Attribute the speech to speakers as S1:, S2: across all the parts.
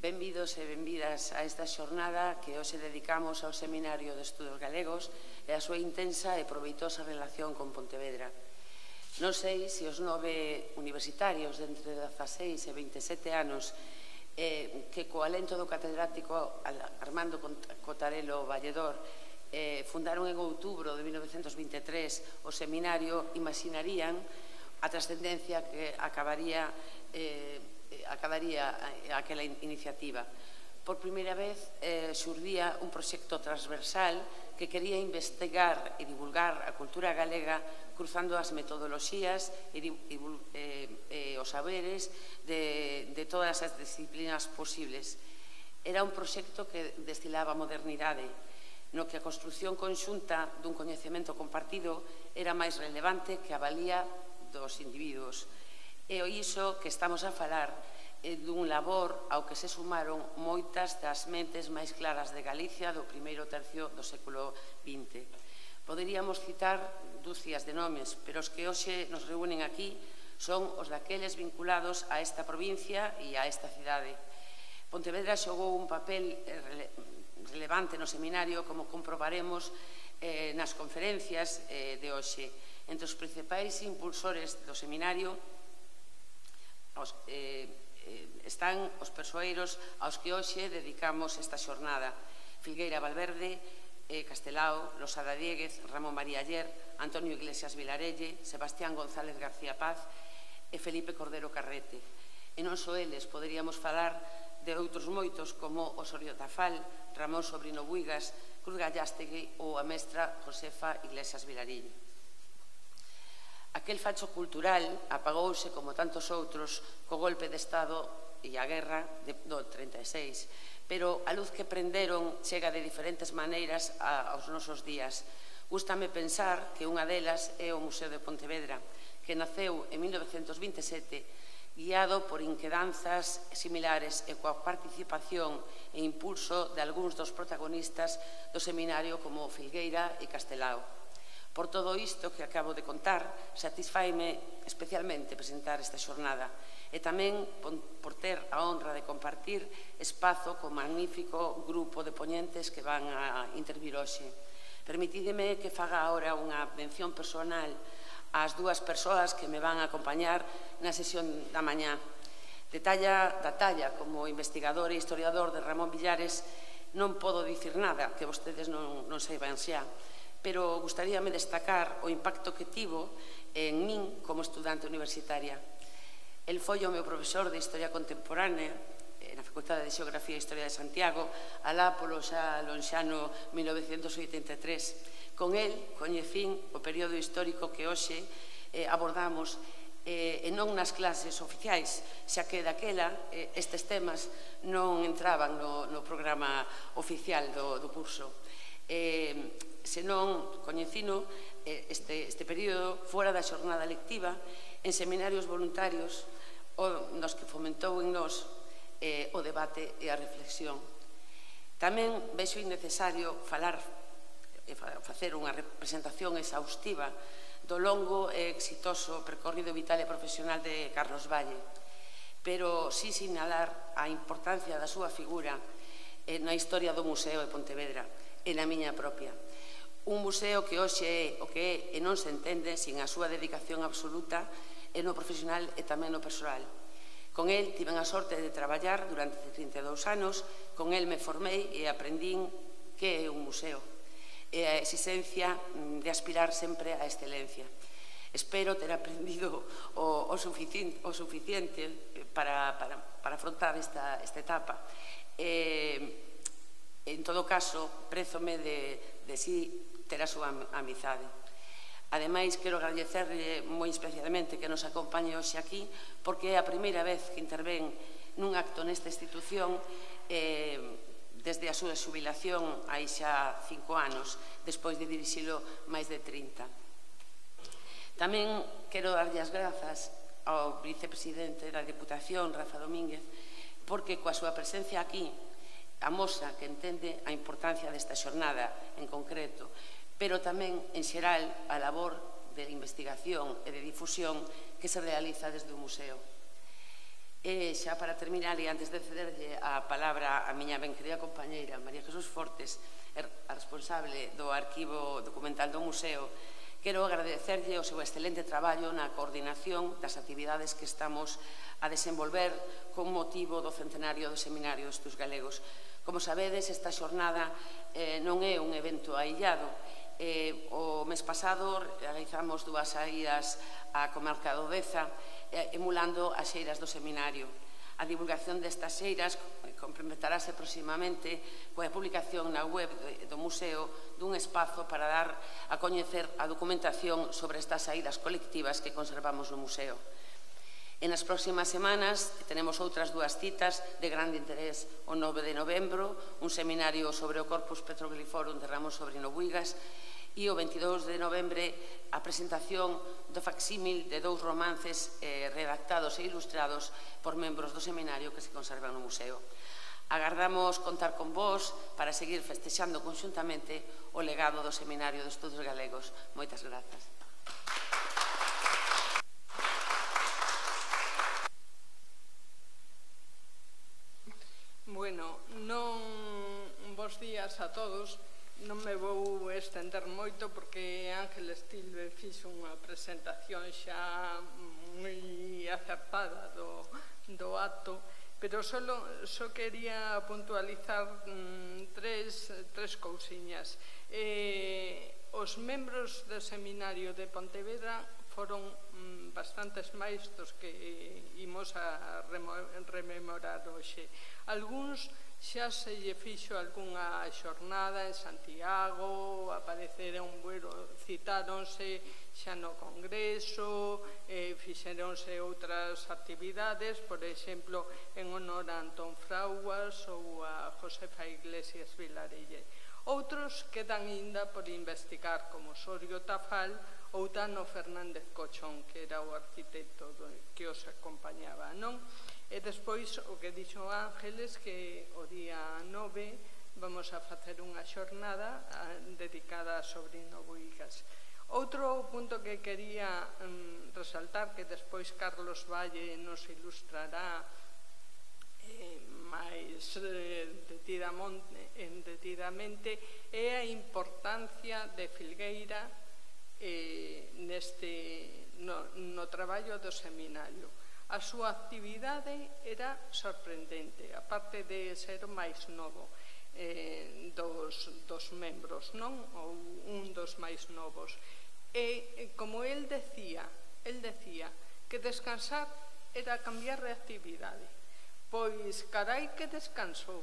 S1: Benvidos e benvidas a esta xornada que hoxe dedicamos ao Seminario de Estudos Galegos e a súa intensa e proveitosa relación con Pontevedra. Non sei se os 9 universitarios de entre 16 e 27 anos que co alento do catedrático Armando Cotarelo Valledor fundaron en outubro de 1923 o seminario imaginarían a trascendencia que acabaría aquela iniciativa. Por primeira vez xurdía un proxecto transversal que quería investigar e divulgar a cultura galega cruzando as metodoloxías e os saberes de todas as disciplinas posibles. Era un proxecto que destilaba modernidade, no que a construción conxunta dun coñecemento compartido era máis relevante que a valía dos individuos. E iso que estamos a falar dun labor ao que se sumaron moitas das mentes máis claras de Galicia do primeiro tercio do século XX. Poderíamos citar dúcias de nomes, pero os que hoxe nos reúnen aquí son os daqueles vinculados a esta provincia e a esta cidade. Pontevedra xogou un papel relevante no seminario, como comprobaremos nas conferencias de hoxe. Entre os principais impulsores do seminario están os persoeiros aos que hoxe dedicamos esta xornada: Filgueira Valverde, Castelao, Losada Dieguez, Ramón María Aller, Antonio Iglesias Vilarelle, Sebastián González García Paz e Felipe Cordero Carrete. E non só eles, poderíamos falar de outros moitos como Osorio Tafal, Ramón Sobrino Buigas, Cruz Gallastegui ou a mestra Josefa Iglesias Vilarille. Aquel facho cultural apagouse, como tantos outros, co golpe de Estado e a guerra do 36, pero a luz que prenderon chega de diferentes maneiras aos nosos días. Gústame pensar que unha delas é o Museo de Pontevedra, que naceu en 1927, guiado por inquedanzas similares e coa participación e impulso de algúns dos protagonistas do seminario como Filgueira e Castelao. Por todo isto que acabo de contar, satisfaime especialmente presentar esta xornada e tamén por ter a honra de compartir espazo con magnífico grupo de poñentes que van a intervir hoxe. Permitídeme que faga agora unha mención personal ás dúas persoas que me van a acompañar na sesión da mañá. Da talla como investigador e historiador de Ramón Villares non podo dicir nada que vostedes non saiban xa, pero gustaríame destacar o impacto que tivo en min como estudante universitaria. El foi o meu profesor de Historia Contemporánea na Facultade de Xeografía e Historia de Santiago alá polo xa lonxano 1983. Con el coñecín o período histórico que hoxe abordamos e non nas clases oficiais, xa que daquela estes temas non entraban no programa oficial do curso. Senón coñecino este período fora da xornada lectiva en seminarios voluntarios nos que fomentou en nós o debate e a reflexión. Tamén vexo innecesario facer unha representación exhaustiva do longo e exitoso percorrido vital e profesional de Carlos Valle, pero si sinalar a importancia da súa figura na historia do Museo de Pontevedra e na miña propia. Un museo que hoxe é o que é e non se entende sin a súa dedicación absoluta no profesional e tamén no persoal. Con el tiven a sorte de traballar durante 32 anos, con el me formei e aprendín que é un museo e a exigencia de aspirar sempre á excelencia. Espero ter aprendido o suficiente para afrontar esta etapa. En todo caso, prézome de si ter a súa amizade. Ademais, quero agradecerle moi especialmente que nos acompañe hoxe aquí, porque é a primeira vez que intervén nun acto nesta institución desde a súa xubilación hai xa 5 anos, despois de dirixilo máis de 30. Tamén quero darlle as grazas ao vicepresidente da Deputación, Rafa Domínguez, porque coa súa presencia aquí amosa que entende a importancia desta xornada en concreto, pero tamén, en xeral, a labor de investigación e de difusión que se realiza desde o museo. E xa para terminar, e antes de cederlle a palabra a miña ben querida compañeira María Jesús Fortes, a responsable do arquivo documental do museo, quero agradecerlle o seu excelente traballo na coordinación das actividades que estamos a desenvolver con motivo do centenario do Seminario de Estudos Galegos. Como sabedes, esta xornada non é un evento aillado. O mes pasado realizamos 2 saídas á comarca do Deza, emulando as xeiras do Seminario. A divulgación destas xeiras complementarase proximamente coa publicación na web do museo dun espazo para dar a coñecer a documentación sobre estas saídas colectivas que conservamos no museo. En as próximas semanas tenemos outras 2 citas de grande interés. O 9 de novembro, un seminario sobre o Corpus Petrogliforum de Ramón Sobrino Buigas, e o 22 de novembre a presentación do facsímil de 2 romances redactados e ilustrados por membros do seminario que se conservan no museo. Agardamos contar con vos para seguir festexando conxuntamente o legado do Seminario de Estudos Galegos. Moitas grazas.
S2: Bueno, bos días a todos. Non me vou estender moito porque Ángeles Tilbe fixo unha presentación xa moi acertada do acto, pero só quería puntualizar tres cousiñas. Os membros do Seminario de Pontevedra foron bastantes máis dos que imos a rememorar hoxe. Algúns xa se lle fixo algunha xornada en Santiago, apareceron, citáronse xa no Congreso, fixeronse outras actividades, por exemplo, en honor a Antón Frauas ou a Josefa Iglesias Vilarelle. Outros quedan ainda por investigar, como Osorio Tafal ou Tano Fernández Cochón, que era o arquitecto que os acompañaba, non? E despois, o que dixo Ángeles, que o día 9 vamos a facer unha xornada dedicada a Sobrino Buigas. Outro punto que quería resaltar, que despois Carlos Valle nos ilustrará máis detidamente, é a importancia de Filgueira no traballo do seminario. A súa actividade era sorprendente, aparte de ser o máis novo dos membros, non? Ou un dos máis novos. E, como el decía que descansar era cambiar de actividade. Pois, carai que descansou,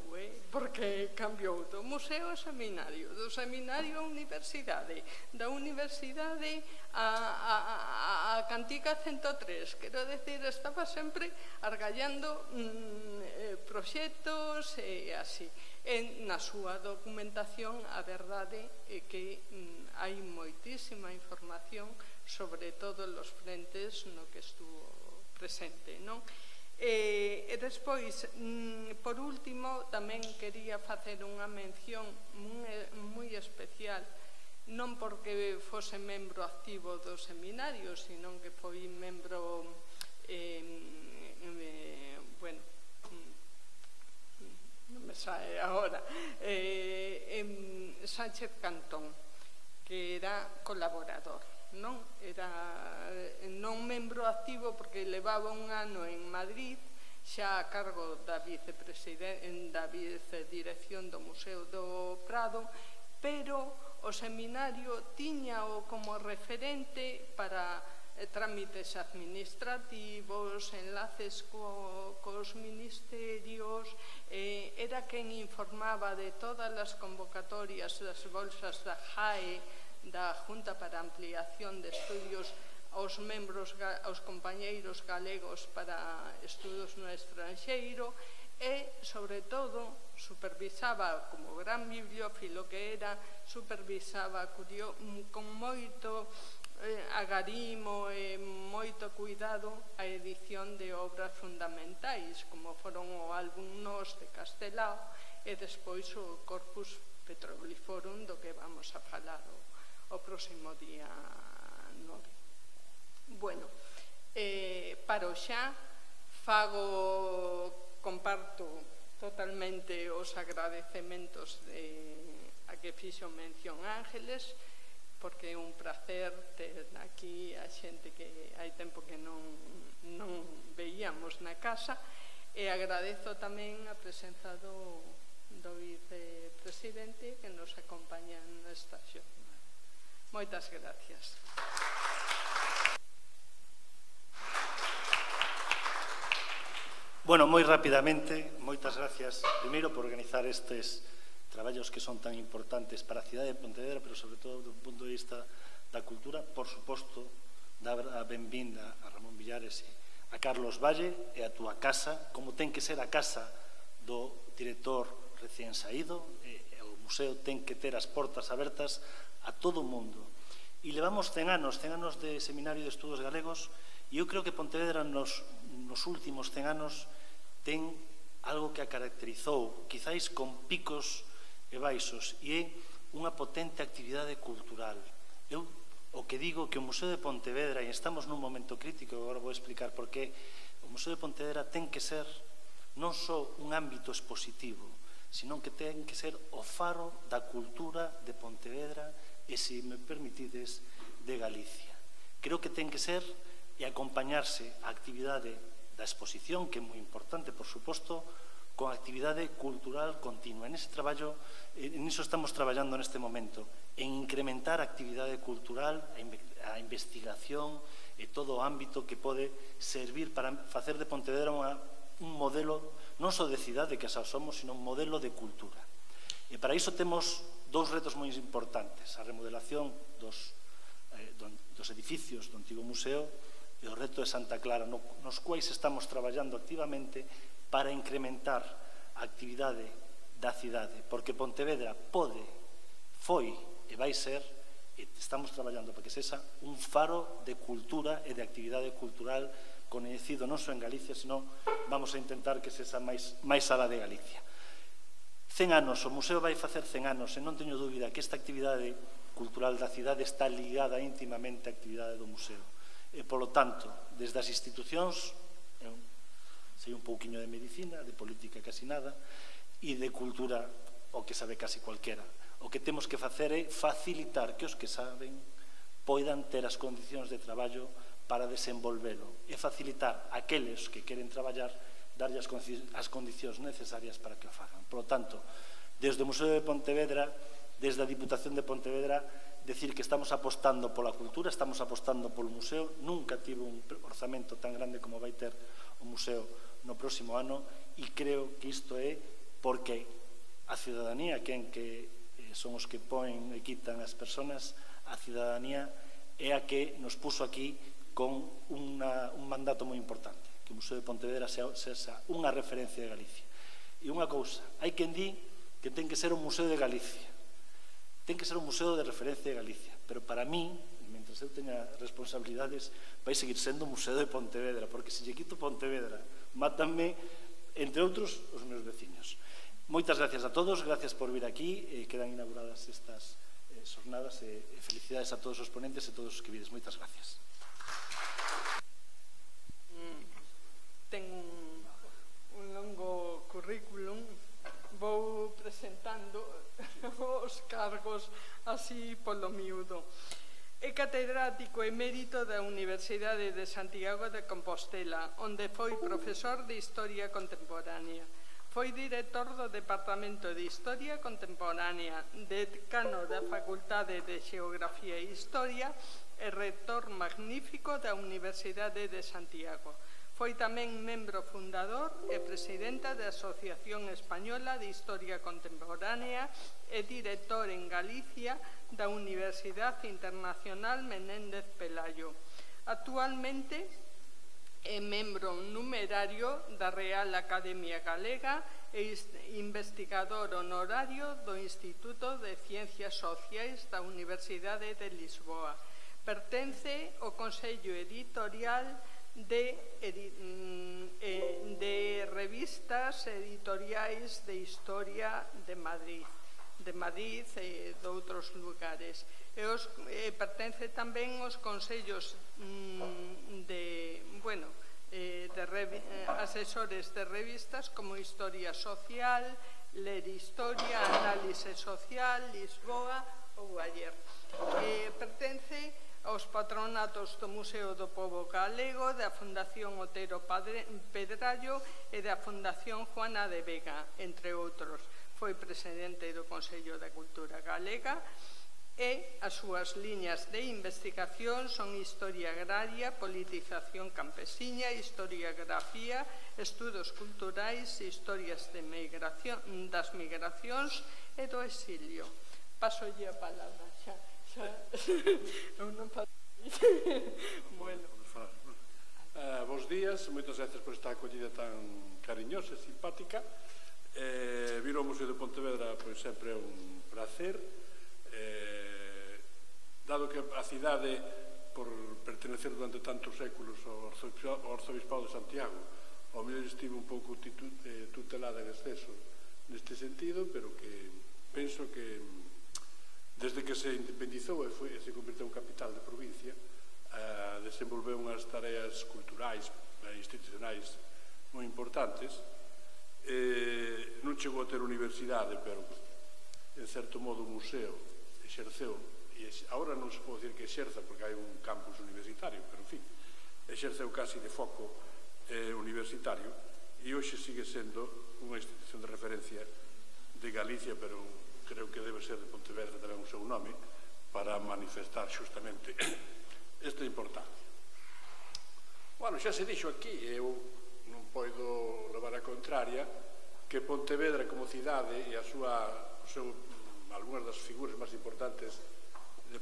S2: porque cambiou do museo ao seminario, do seminario á universidade, da universidade a Cantiga 103, quero decir, estaba sempre argallando proxectos e así. Na súa documentación, a verdade é que hai moitísima información sobre todos os frentes no que estuvo presente, non? E despois, por último, tamén quería facer unha mención moi especial, non porque fose membro activo do seminario, sino que foi membro, bueno, non me sae agora, Sánchez Cantón, que era colaborador. Era non membro activo porque levaba un ano en Madrid xa a cargo da vicedirección do Museo do Prado, pero o seminario tiñao como referente para trámites administrativos, enlaces cos ministerios, era quen informaba de todas as convocatorias das bolsas da JAE, da Junta para Ampliación de Estudios aos membros, aos compañeiros galegos para estudos no estranxeiro e, sobre todo, supervisaba, como gran bibliófilo que era, supervisaba con moito agarimo e moito cuidado a edición de obras fundamentais, como foron o álbum Nos de Castelao e despois o Corpus Petrogliforum, do que vamos a falar o próximo día 9. Bueno, paro xa, comparto totalmente os agradecementos a que fixo mención Ángeles, porque é un placer ter aquí a xente que hai tempo que non veíamos na casa, e agradezo tamén a presenza do vicepresidente que nos acompaña nesta xornada. Moitas gracias.
S3: Bueno, moi rapidamente, moitas gracias primeiro por organizar estes traballos que son tan importantes para a cidade de Pontevedra, pero sobre todo do punto de vista da cultura. Por suposto, dar a benvinda a Ramón Villares e a Carlos Valle e a túa casa, como ten que ser a casa do director recén saído. O museo ten que ter as portas abertas a todo o mundo. E levamos 100 anos de Seminario de Estudos Galegos, e eu creo que Pontevedra nos últimos 100 anos ten algo que a caracterizou, quizáis con picos e baixos, e é unha potente actividade cultural. Eu o que digo que o Museo de Pontevedra, e estamos nun momento crítico, agora vou explicar por qué, o Museo de Pontevedra ten que ser non só un ámbito expositivo, sino que ten que ser o faro da cultura de Pontevedra e, se me permitides, de Galicia. Creo que ten que ser e acompañarse a actividade da exposición, que é moi importante, por suposto, con actividade cultural continua. En ese traballo, niso estamos traballando neste momento, en incrementar a actividade cultural, a investigación e todo o ámbito que pode servir para facer de Pontevedra un modelo non só de cidade, que xa somos, sino un modelo de cultura. E para iso temos dous retos moi importantes: a remodelación dos edificios do antigo museo e o reto de Santa Clara, nos quais estamos traballando activamente para incrementar a actividade da cidade, porque Pontevedra pode, foi e vai ser, e estamos traballando para que sexa un faro de cultura e de actividade cultural coñecido non só en Galicia, sino vamos a intentar que sexa máis alá de Galicia. 100 anos, o museo vai facer 100 anos, e non teño dúbida que esta actividade cultural da cidade está ligada íntimamente á actividade do museo. E, polo tanto, desde as institucións, sei un pouquiño de medicina, de política casi nada, e de cultura o que sabe casi cualquera. O que temos que facer é facilitar que os que saben poidan ter as condicións de traballo para desenvolvelo, e facilitar aqueles que queren traballar, darlle as condicións necesarias para que o fagan. Por lo tanto, desde o Museo de Pontevedra, desde a Diputación de Pontevedra, decir que estamos apostando pola cultura, estamos apostando polo museo. Nunca tivo un orzamento tan grande como vai ter o museo no próximo ano, e creo que isto é porque a ciudadanía, que son os que poen e quitan as persoas, a ciudadanía é a que nos puso aquí con un mandato moi importante, que o Museo de Pontevedra sexa unha referencia de Galicia. E unha cousa, hai quen di que ten que ser un museo de Galicia, ten que ser un museo de referencia de Galicia, pero para mí, mentre eu teña responsabilidades, vai seguir sendo un museo de Pontevedra, porque se lle quito Pontevedra, mátanme, entre outros, os meus veciños. Moitas gracias a todos, gracias por vir aquí, quedan inauguradas estas xornadas, e felicidades a todos os ponentes e todos os que vides. Moitas gracias.
S2: Ten un longo currículum, vou presentando os cargos así polo miúdo. É catedrático emérito da Universidade de Santiago de Compostela, onde foi profesor de Historia Contemporánea. Foi director do Departamento de Historia Contemporánea, decano da Facultade de Xeografía e Historia e rector magnífico da Universidade de Santiago. Foi tamén membro fundador e presidenta da Asociación Española de Historia Contemporánea e director en Galicia da Universidade Internacional Menéndez Pelayo. Actualmente é membro numerario da Real Academia Galega e investigador honorario do Instituto de Ciencias Sociais da Universidade de Lisboa. Pertence ao Consello Editorial de revistas editoriais de historia de Madrid e de outros lugares. Pertence tamén aos consellos asesores de revistas como Historia Social, Ler Historia, Análise Social, Lisboa ou Ayer. Pertence aos patronatos do Museo do Pobo Galego, da Fundación Otero Pedrallo e da Fundación Juana de Vega, entre outros. Foi presidente do Consello da Cultura Galega e as súas liñas de investigación son Historia Agraria, Politización Campesiña, Historiografía, Estudos Culturais, Historias das Migracións e do Exilio. Pasolle a palabra xa. Eu non paso. Bueno.
S4: Bos días, moitas gracias por esta acollida tan cariñosa e simpática. Vir ao Museo de Pontevedra pois sempre é un placer. Dado que a cidade, por pertenecer durante tantos séculos ao Arzobispado de Santiago, ao mellor estive un pouco tutelada en exceso neste sentido, pero que penso que desde que se independizou e se converteu en capital de provincia, desenvolveu unhas tareas culturais e institucionais moi importantes. Non chegou a ter universidade, pero en certo modo o museo exerceu, e agora non se pode dicir que exerza porque hai un campus universitario, pero en fin, exerceu casi de foco universitario e hoxe sigue sendo unha institución de referencia de Galicia, pero creo que debe ser de Pontevedra tamén o seu nome para manifestar xustamente esta importancia. Bueno, xa se dixo aquí, eu non podo levar a contraria que Pontevedra como cidade e algunhas das figuras máis importantes de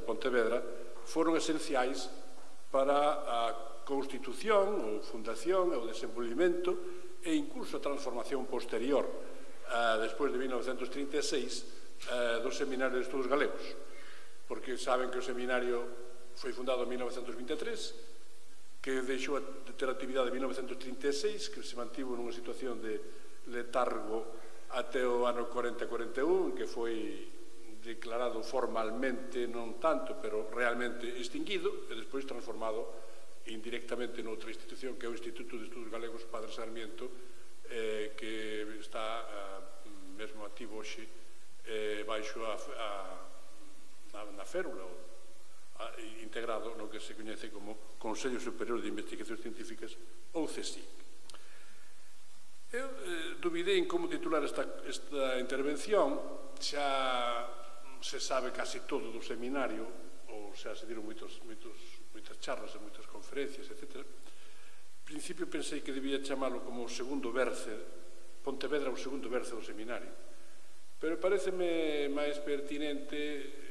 S4: Pontevedra foron esenciais para a constitución, ou fundación, o desenvolvimento e incluso a transformación posterior despois de 1936 do Seminario de Estudos Galegos, porque saben que o seminario foi fundado en 1923, que deixou de ter actividade en 1936, que se mantivo nunha situación de letargo até o ano 40-41, que foi declarado formalmente, non tanto, pero realmente extinguido, e despois transformado indirectamente noutra institución, que é o Instituto de Estudos Galegos Padre Sarmiento, que está mesmo activo hoxe baixo na férula, integrado no que se coñece como Consello Superior de Investigacións Científicas, ou CSIC. Eu dubidei en como titular esta intervención. Xa se sabe casi todo do seminario, ou xa se diron moitas charlas e moitas conferencias, etc. En principio pensei que debía chamalo como o segundo berce, Pontevedra o segundo berce do seminario, pero pareceme máis pertinente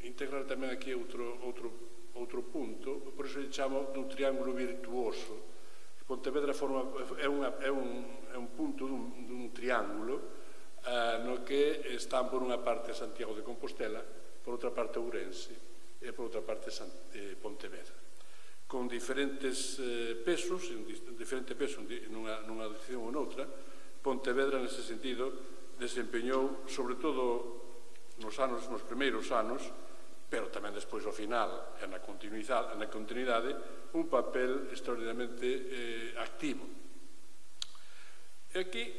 S4: integrar tamén aquí outro punto, por iso lle chamo dun triángulo virtuoso. Pontevedra é un punto dun triángulo no que están por unha parte Santiago de Compostela, por outra parte Ourense e por outra parte Pontevedra, con diferentes pesos, nunha dirección ou noutra. Pontevedra, nese sentido, desempeñou, sobre todo nos primeiros anos, pero tamén despois ao final e na continuidade, un papel extraordinariamente activo. E aquí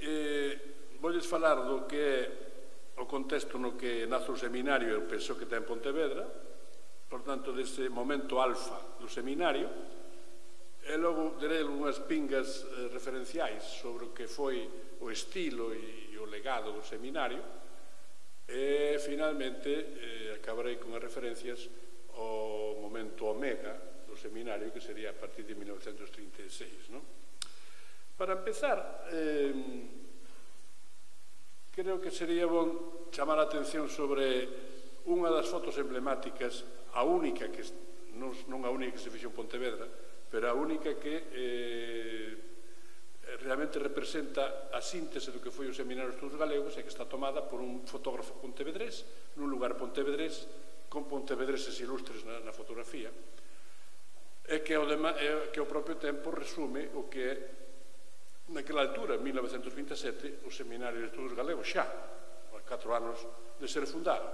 S4: voulles falar do que é o contexto no que nace o seminario e o peso que ten Pontevedra, por tanto, dese momento alfa do seminario, e logo direi unhas pingas referenciais sobre o que foi o estilo e o legado do seminario, e finalmente acabarei con as referencias ao momento omega do seminario, que sería a partir de 1936. Para empezar, creo que sería bon chamar a atención sobre unha das fotos emblemáticas, a única que non a única que se fixo en Pontevedra, pero a única que realmente representa a síntese do que foi o Seminario de Estudos Galegos, e que está tomada por un fotógrafo pontevedrés nun lugar pontevedrés, con pontevedreses ilustres na fotografía, e que ao propio tempo resume o que é naquela altura, en 1927, o Seminario de Estudos Galegos, xa a 4 anos de ser fundado.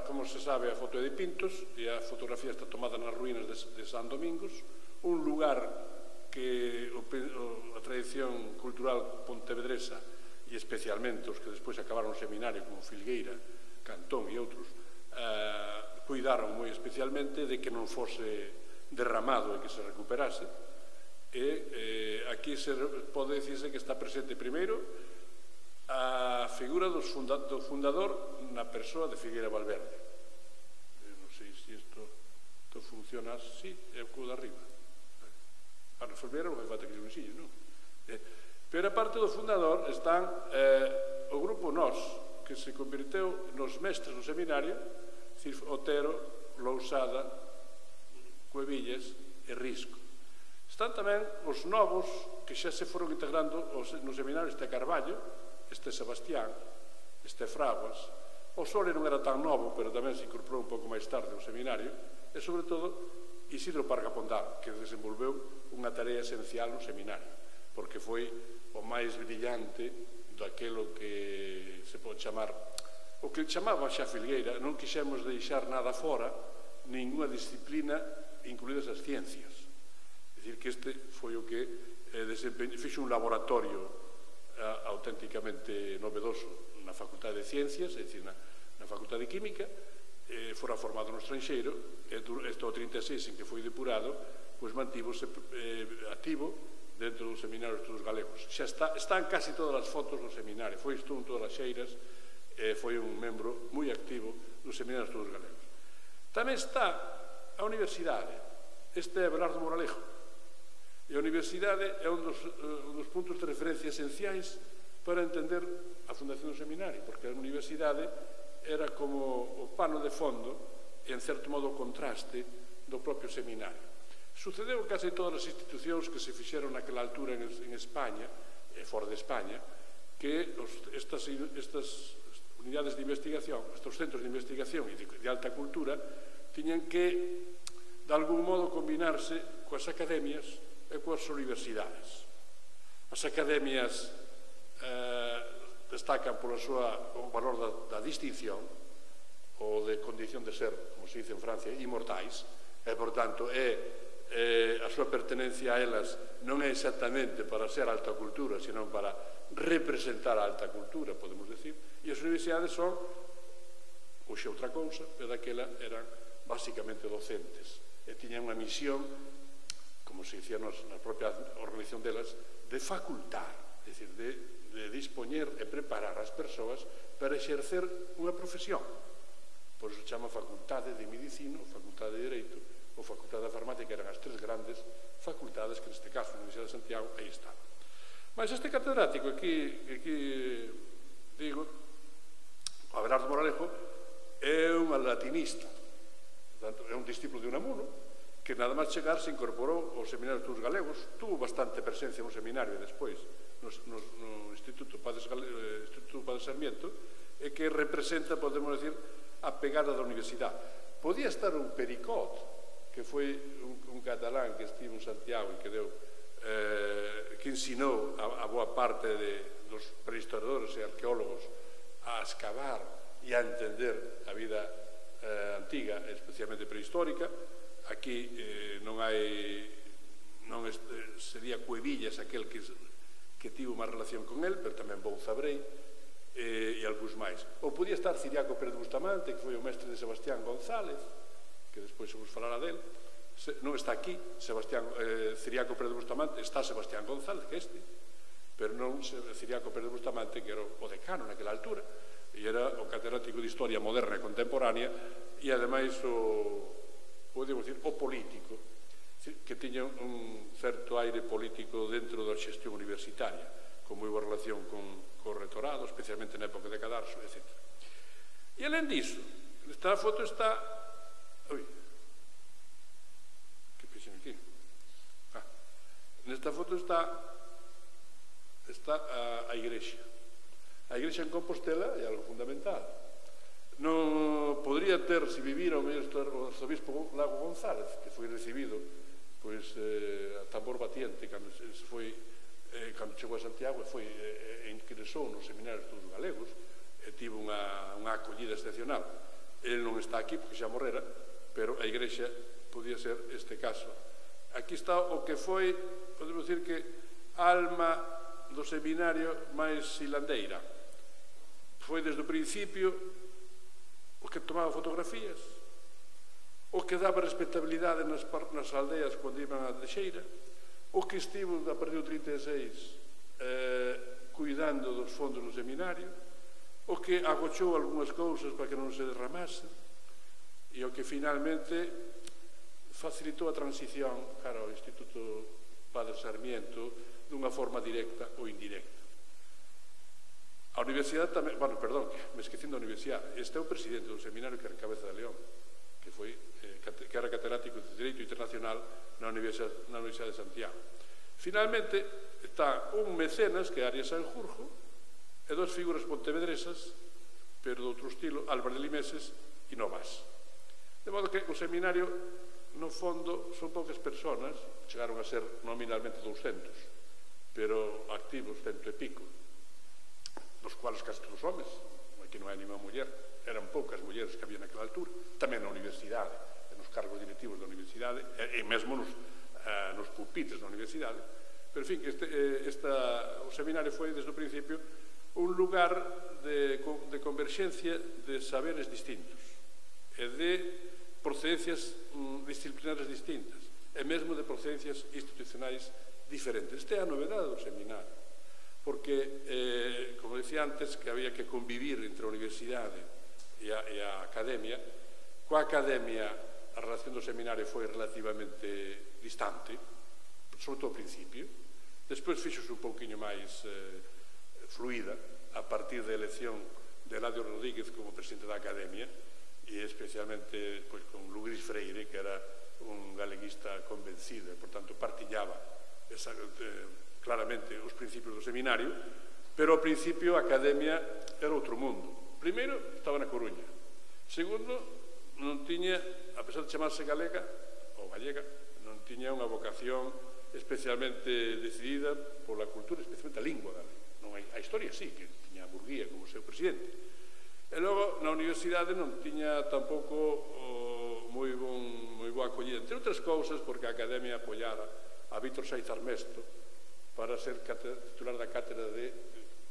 S4: Como se sabe, a foto é de Pintos e a fotografía está tomada nas ruínas de San Domingos, un lugar que a tradición cultural pontevedresa e especialmente os que despois acabaron no seminario como Filgueira, Cantón e outros cuidaron moi especialmente de que non fose derramado e que se recuperase, e aquí pode dicirse que está presente primeiro a figura do fundador na persoa de Figueira Valverde. Non sei se isto funciona así, é o co de arriba. Para resolver non fai falta que se unxille, non? Pero a parte do fundador están o grupo Nós, que se convirteu nos mestres do seminario, Otero, Lousada, Cuevillas e Risco. Están tamén os novos que xa se foron integrando no seminario, este Carballo, este Sebastián, este Fraguas. O Sole non era tan novo, pero tamén se incorporou un pouco máis tarde ao seminario, e, sobre todo, Isidro Parga Pondal, que desenvolveu unha tarea esencial no seminario, porque foi o máis brillante daquilo que se pode chamar, o que chamaba xa Filgueira. Non quixemos deixar nada fora, ninguna disciplina, incluídas as ciencias. É dicir, que este foi o que fixo un laboratorio auténticamente novedoso na Facultade de Ciencias, é dicir, na Facultade de Química, fora formado no estranxeiro, e este o 36 en que foi depurado, pois mantívose activo dentro do Seminario de Estudos Galegos. Xa están casi todas as fotos do seminario, foi isto en todas as xeiras, foi un membro moi activo do Seminario de Estudos Galegos. Tamén está a Universidade, este é Belardo Moralejo, e a Universidade é un dos puntos de referencia esenciais para entender a fundación do seminario, porque a Universidade era como o pano de fondo e, en certo modo, o contraste do propio seminario. Sucedeu case todas as institucións que se fixeron naquela altura en España, e fora de España, que estas unidades de investigación, estes centros de investigación e de alta cultura, tiñan que, de algún modo, combinarse coas academias e coas universidades. As academias destacan polo valor da distinción ou de condición de ser, como se dice en Francia, inmortais, e, por tanto, a súa pertenencia a elas non é exactamente para ser alta cultura, senón para representar a alta cultura, podemos decir, e as universidades son, hoxe outra cousa, pero daquela eran basicamente docentes, e tiñan unha misión, como se dicía na propia organización delas, de facultar, é dicir, de dispoñer e preparar as persoas para exercer unha profesión. Por iso se chama Facultade de Medicina, Facultade de Dereito ou Facultade de Farmácia, que eran as tres grandes facultades que neste caso na Universidade de Santiago aí estaban. Mas este catedrático aquí digo, Abelardo Moralejo, é un latinista, portanto, é un discípulo de Unamuno, que nada máis chegar se incorporou ao Seminario de Estudos Galegos, tuvo bastante presencia no seminario e despois no Instituto Padre Sarmiento, e que representa, podemos decir, a pegada da universidade. Podía estar un Pericot, que foi un catalán que estivo en Santiago e que ensinou a boa parte dos prehistoriadores e arqueólogos a escavar e a entender a vida antiga, especialmente prehistórica. Aquí sería Cuevillas aquel que tivo máis relación con el, pero tamén Bouzabrei e algúns máis. Ou podía estar Ciriaco Pérez Bustamante, que foi o mestre de Sebastián González, que despois se vos falará del. Non está aquí Ciriaco Pérez Bustamante, está Sebastián González, que este, pero non Ciriaco Pérez Bustamante, que era o decano naquela altura, e era o catedrático de Historia Moderna e Contemporánea, e ademais podemos dicir, o político, que tiña un certo aire político dentro da xestión universitaria, con moi boa relación con o retorado, especialmente na época de Cadarso, etc. E alén diso, nesta foto está... Que pixen aquí? Nesta foto está a igrexa. A igrexa en Compostela é algo fundamental. Non podría ter, se vivira o arzobispo Lago González, que foi recibido a tambor batiente cando chegou a Santiago e ingresou no Seminario de Estudos Galegos, e tivo unha acollida excepcional. El non está aquí porque xa morrera, pero a Igrexa podía ser este caso. Aquí está o que foi, podemos dicir que, a alma do seminario máis silandeira. Foi desde o principio o que tomaba fotografías, o que daba respetabilidade nas aldeas cando iban a Teixeira, o que estivo a partir do 36 cuidando dos fondos do seminario, o que agochou algunhas cousas para que non se derramase, e o que finalmente facilitou a transición cara ao Instituto Padre Sarmiento dunha forma directa ou indirecta. A universidade tamén, me esquecín da universidade. Este é o presidente do seminario que era Cabeza de León, que era catedrático de Dereito Internacional na Universidade de Santiago. Finalmente, está un mecenas, que é Arias Sanjurjo, e dos figuras pontevedresas, pero de outro estilo, Álvaro de Limeses e Novas. De modo que o seminario, no fondo, son poucas personas, chegaron a ser nominalmente 200, pero activos 100 e pico, dos cuales casi todos homes, aquí non hai ninguna muller, eran poucas mulleres que había naquela altura, tamén na universidade, nos cargos directivos da universidade, e mesmo nos pupitres da universidade. Pero, en fin, o seminario foi, desde o principio, un lugar de converxencia de saberes distintos e de procedencias disciplinares distintas e mesmo de procedencias institucionais diferentes. Esta é a novedade do seminario, porque, como dicía antes, que había que convivir entre a universidade e a academia. Coa academia a relación do seminario foi relativamente distante, sobre todo ao principio. Despois fixose un pouquinho máis fluida a partir da elección de Eladio Rodríguez como presidente da academia, e especialmente con Luis Freire, que era un galeguista convencido e, por tanto, partillaba claramente os principios do seminario, pero ao principio a academia era outro mundo. Primeiro, estaba na Coruña. Segundo, non tiña, a pesar de chamarse galega ou gallega, non tiña unha vocación especialmente decidida pola cultura, especialmente a lingua galega. Non a historia sí, que tiña a Murguía como seu presidente. E logo, na universidade non tiña tampouco moi boa acollida, entre outras cousas, porque a academia apoiara a Víctor Saiz Armesto para ser titular da cátedra de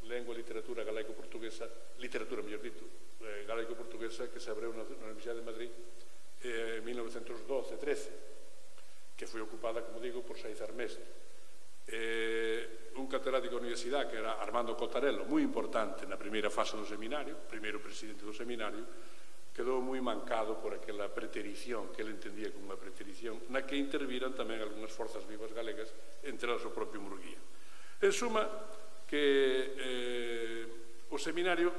S4: Lengua e Literatura Galaico-Portuguesa, literatura, mellor dito, galaico-portuguesa, que se abreu na Universidade de Madrid en 1912-13, que foi ocupada, como digo, por Saiz Armesto. Un catedrático da universidade, que era Armando Cotarello, moi importante na primeira fase do seminario, primeiro presidente do seminario, quedou moi mancado por aquela preterición, que ele entendía como unha preterición, na que interviran tamén algunhas forzas vivas galegas, entre elas o propio Murguía. En suma, que o seminario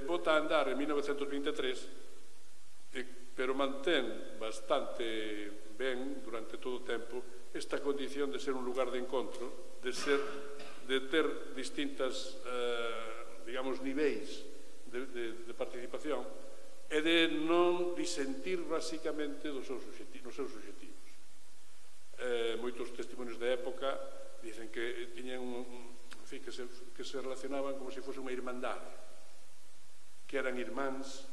S4: bota a andar en 1923, pero mantén bastante ben durante todo o tempo esta condición de ser un lugar de encontro, de ter distintas, digamos, niveis de participación e de non disentir basicamente nos seus obxectivos. Moitos testimonios da época dicen que tiñan que se relacionaban como se fose unha irmandade, que eran irmáns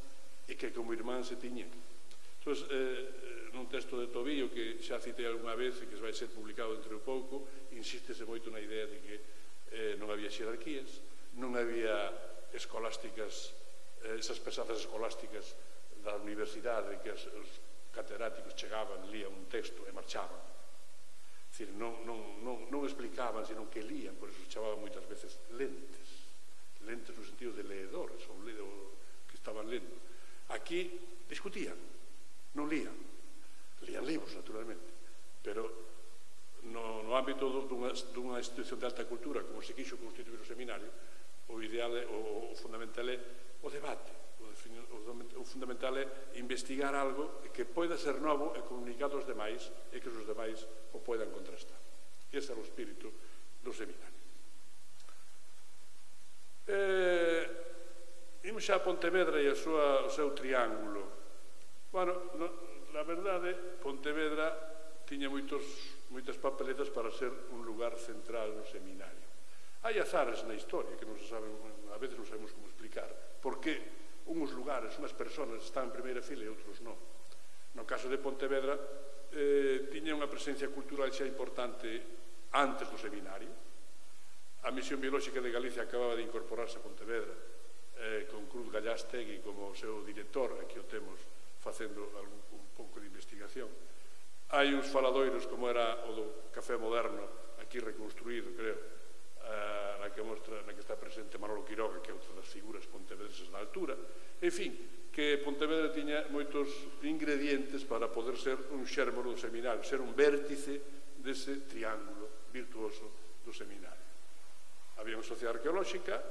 S4: e que como irmáns se tiñan. Entón, nun texto de Tobío que xa citei algunha vez e que vai ser publicado dentro de pouco, insístese moito na idea de que non había xerarquías, non había escolásticas, esas pesadas escolásticas da universidade, que os catedráticos chegaban, lían un texto e marchaban. É dicir, non explicaban, senón que lían, por eso se chamaban moitas veces lentes no sentido de leedores, ou que estaban lendo. Aquí discutían, non lían libros, naturalmente, pero no ámbito dunha institución de alta cultura, como se quixo constituir o seminario, o ideal, o fundamental é o debate, o fundamental é investigar algo que poida ser novo e comunicar aos demais e que os demais o poidan contrastar. Ese é o espírito do seminario. Imos xa a Pontevedra e o seu triángulo. Bueno, na verdade, Pontevedra tiña moitas papeletas para ser un lugar central no seminario. Hai azares na historia que non se saben, a veces non sabemos como explicar, porque uns lugares, unhas persoas están en primeira fila e outros non. No caso de Pontevedra, tiña unha presencia cultural xa importante antes do seminario. A Misión Biolóxica de Galicia acababa de incorporarse a Pontevedra, con Cruz Gallastegui como seu director, aquí o temos facendo un pouco de investigación. Hai uns faladoiros como era o do Café Moderno, aquí reconstruído, creo, na que está presente Manolo Quiroga, que é outra das figuras pontevedreses da altura. En fin, que Pontevedra tiña moitos ingredientes para poder ser un xérmolo do seminario, ser un vértice dese triángulo virtuoso do seminario. Había unha sociedade arqueolóxica,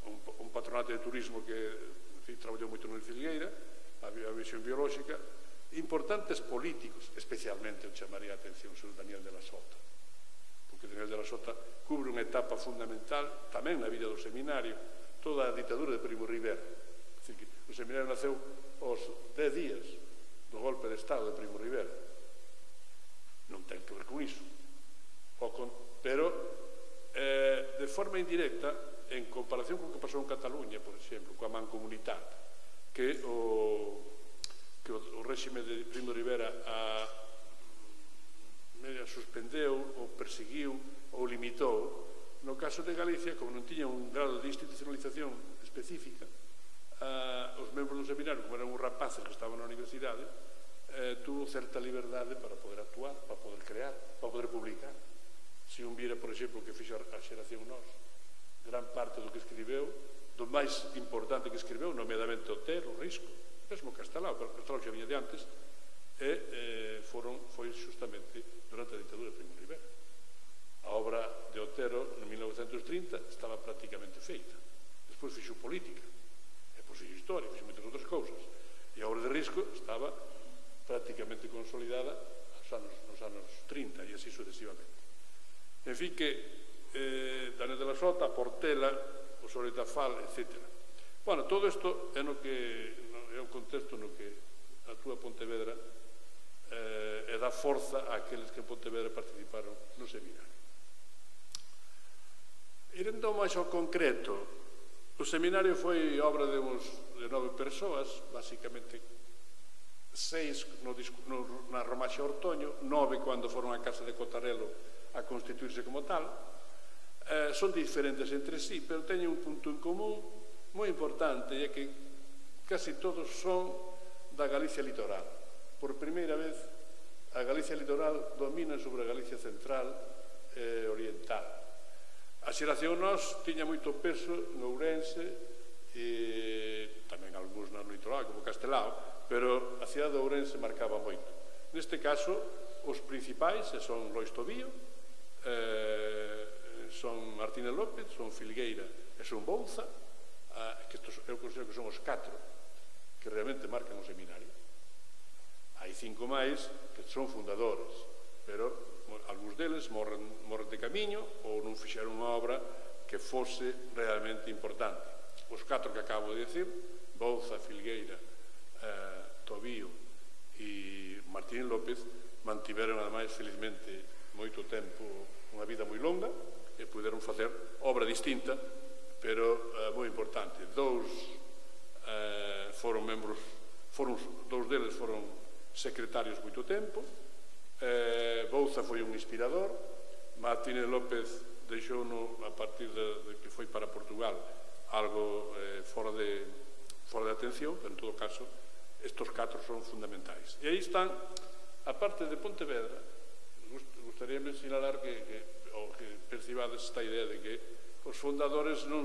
S4: un patronato de turismo que traballou moito no Filgueira, había a Misión Biolóxica, importantes políticos, especialmente o chamaría a atención sobre Daniel de la Sota, porque Daniel de la Sota cubre unha etapa fundamental tamén na vida do seminario, toda a ditadura de Primo Rivera. O seminario naceu aos 10 días do golpe de Estado de Primo Rivera. Non ten que ver con iso, pero de forma indirecta, en comparación con o que pasou en Cataluña, por exemplo, coa Mancomunitat, que o réxime de Primo Rivera suspendeu ou perseguiu ou limitou. No caso de Galicia, como non tiña un grado de institucionalización específica, os membros do seminario, como eran uns rapaces que estaban na universidade, tuvo certa liberdade para poder actuar, para poder crear, para poder publicar. Se un vira, por exemplo, que fixo a Xeración Nós, gran parte do que escribeu, do máis importante que escribeu, nomeadamente Otero, Risco, mesmo Castelao, pero Castelao xa viña de antes, foi justamente durante a ditadura de Primo Rivera. A obra de Otero, en 1930, estaba prácticamente feita. Despois fixo política, depois fixo historia, fixo moitas outras cousas. E a obra de Risco estaba prácticamente consolidada nos anos 30 e así sucesivamente. En fin, que Daniel de la Sota, Portela, o Soletafal, etc. Bueno, todo isto é un contexto no que actúa Pontevedra e dá forza a aqueles que en Pontevedra participaron no seminario. Irendo máis ao concreto, o seminario foi obra de 9 persoas, basicamente 6 na Romaxa Ortoño, 9 cando foron á Casa de Cotarelo a constituirse como tal. Son diferentes entre sí, pero teñen un punto en común moi importante, e é que casi todos son da Galicia litoral. Por primeira vez, a Galicia litoral domina sobre a Galicia central e oriental. A Xeración Nós tiña moito peso no Ourense e tamén algúns no litoral, como Castelao, pero a cidade de Ourense marcaba moito. Neste caso, os principais son Lois Tobío, son Martínez López, son Filgueira e son Bouza, que eu considero que son os 4 que realmente marcan o seminario. Hai 5 máis que son fundadores, pero algúns deles morren de camiño ou non fixeron unha obra que fose realmente importante. Os 4 que acabo de decir, Bouza, Filgueira, Tobío e Martínez López, mantiveron ademais felizmente moito tempo, unha vida moi longa, e puderon facer obra distinta, pero moi importante. Dous deles foron secretarios moito tempo. Bouza foi un inspirador. Martínez López deixouno a partir de que foi para Portugal algo fora de atención, pero en todo caso estos 4 son fundamentais. E aí están, a parte de Pontevedra, gustaríame sinalar que percibades esta idea de que os fundadores non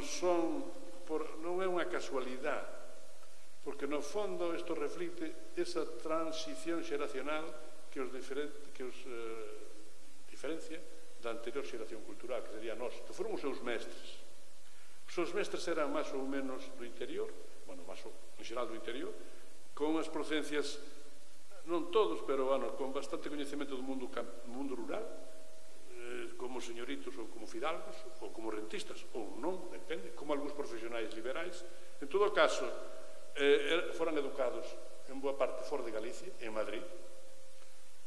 S4: é unha casualidade, porque no fondo isto reflicte esa transición xeracional que os diferencia da anterior xeración cultural, que sería nós, que foron os seus mestres. Os seus mestres eran máis ou menos do interior, bueno, máis en xeral do interior, con as procedencias, non todos, pero con bastante coñecemento do mundo rural, como señoritos ou como fidalgos ou como rentistas, ou non, depende, como algúns profesionais liberais. En todo caso, foran educados en boa parte fora de Galicia, en Madrid,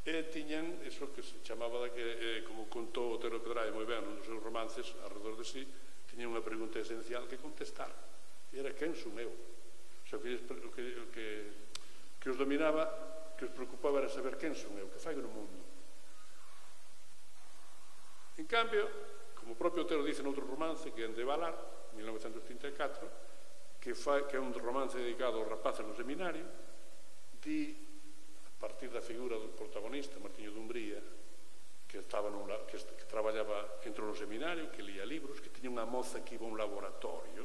S4: e tiñan iso que se chamaba, como contou Otero Pedraia moi ben nos seus romances, alrededor de sí, tiña unha pregunta esencial que contestar, e era quen son eu? O sea, o que os dominaba, que os preocupaba era saber quen son eu, que fai no mundo. En cambio, como o propio Otero dice noutro romance, que é de Valar, 1934, que é un romance dedicado aos rapaces no seminario, di, a partir da figura do protagonista, Martiño de Umbría, que traballaba, entrou no seminario, que lía libros, que tiña unha moza que iba a un laboratorio,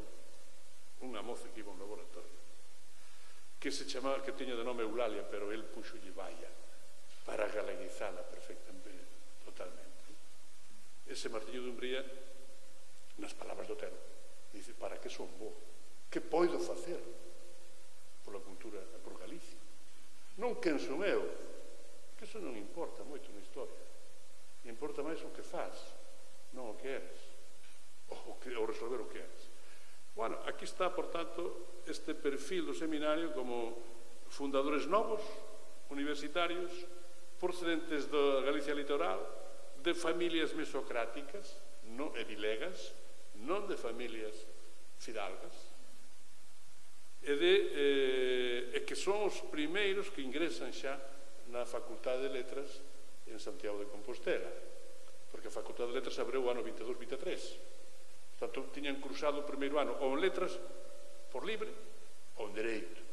S4: que se chamaba, que tiña de nome Eulalia, pero el puxolle Baia, para galeguizala perfectamente, totalmente. Ese Martiño de Umbría, nas palabras do Otero, dice, para que son bo? Que poido facer pola cultura e por Galicia? Non quen son eu, que eso non importa moito na historia. Importa máis o que faz, non o que eres, ou resolver o que eres. Bueno, aquí está, por tanto, este perfil do seminario como fundadores novos, universitarios, procedentes da Galicia litoral, de familias mesocráticas e vilegas, non de familias fidalgas, e que son os primeiros que ingresan xa na Facultade de Letras en Santiago de Compostela, porque a Facultade de Letras abreu o ano 22-23. Portanto, tiñan cruzado o primeiro ano ou en Letras por libre ou en Dereito.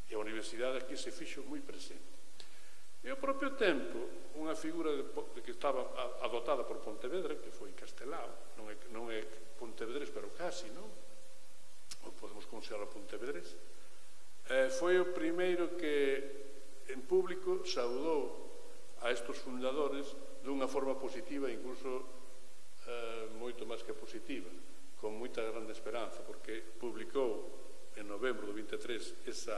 S4: E a universidade aquí se fixo moi presente. E ao propio tempo, unha figura que estaba adotada por Pontevedra, que foi Castelao, non é Pontevedrés, pero casi, non? Ou podemos considerar a Pontevedrés, foi o primeiro que en público saudou a estos fundadores dunha forma positiva, incluso moito máis que positiva, con moita grande esperanza, porque publicou en novembro do 23 esa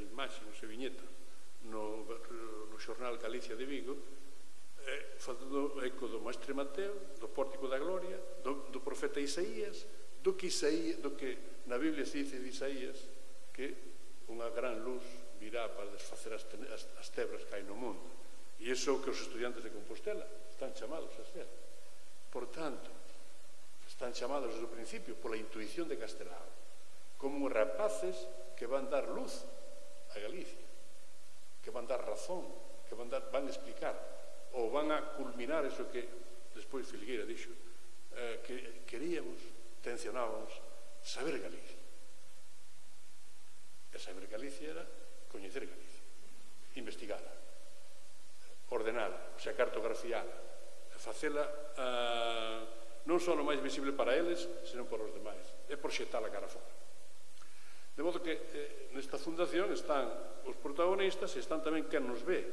S4: imaxe, esa viñeta no xornal Galicia de Vigo, facendo eco do Mestre Mateo, do Pórtico da Gloria, do profeta Isaías, do que na Biblia se dice de Isaías que unha gran luz virá para desfacer as tebras que hai no mundo. E iso é o que os estudiantes de Compostela están chamados a ser. Por tanto, están chamados desde o principio pola intuición de Castelao, como rapaces que van dar luz a Galicia, que van dar razón, que van explicar, ou van a culminar eso que despois Filgueira dixo, que queríamos, tencionábamos, saber Galicia. E saber Galicia era coñecer Galicia, investigala, ordenala, o sea, cartografiala, facela non só o máis visible para eles, senón para os demais, e proxectala cara fora. De modo que nesta fundación están os protagonistas e están tamén quen nos ve.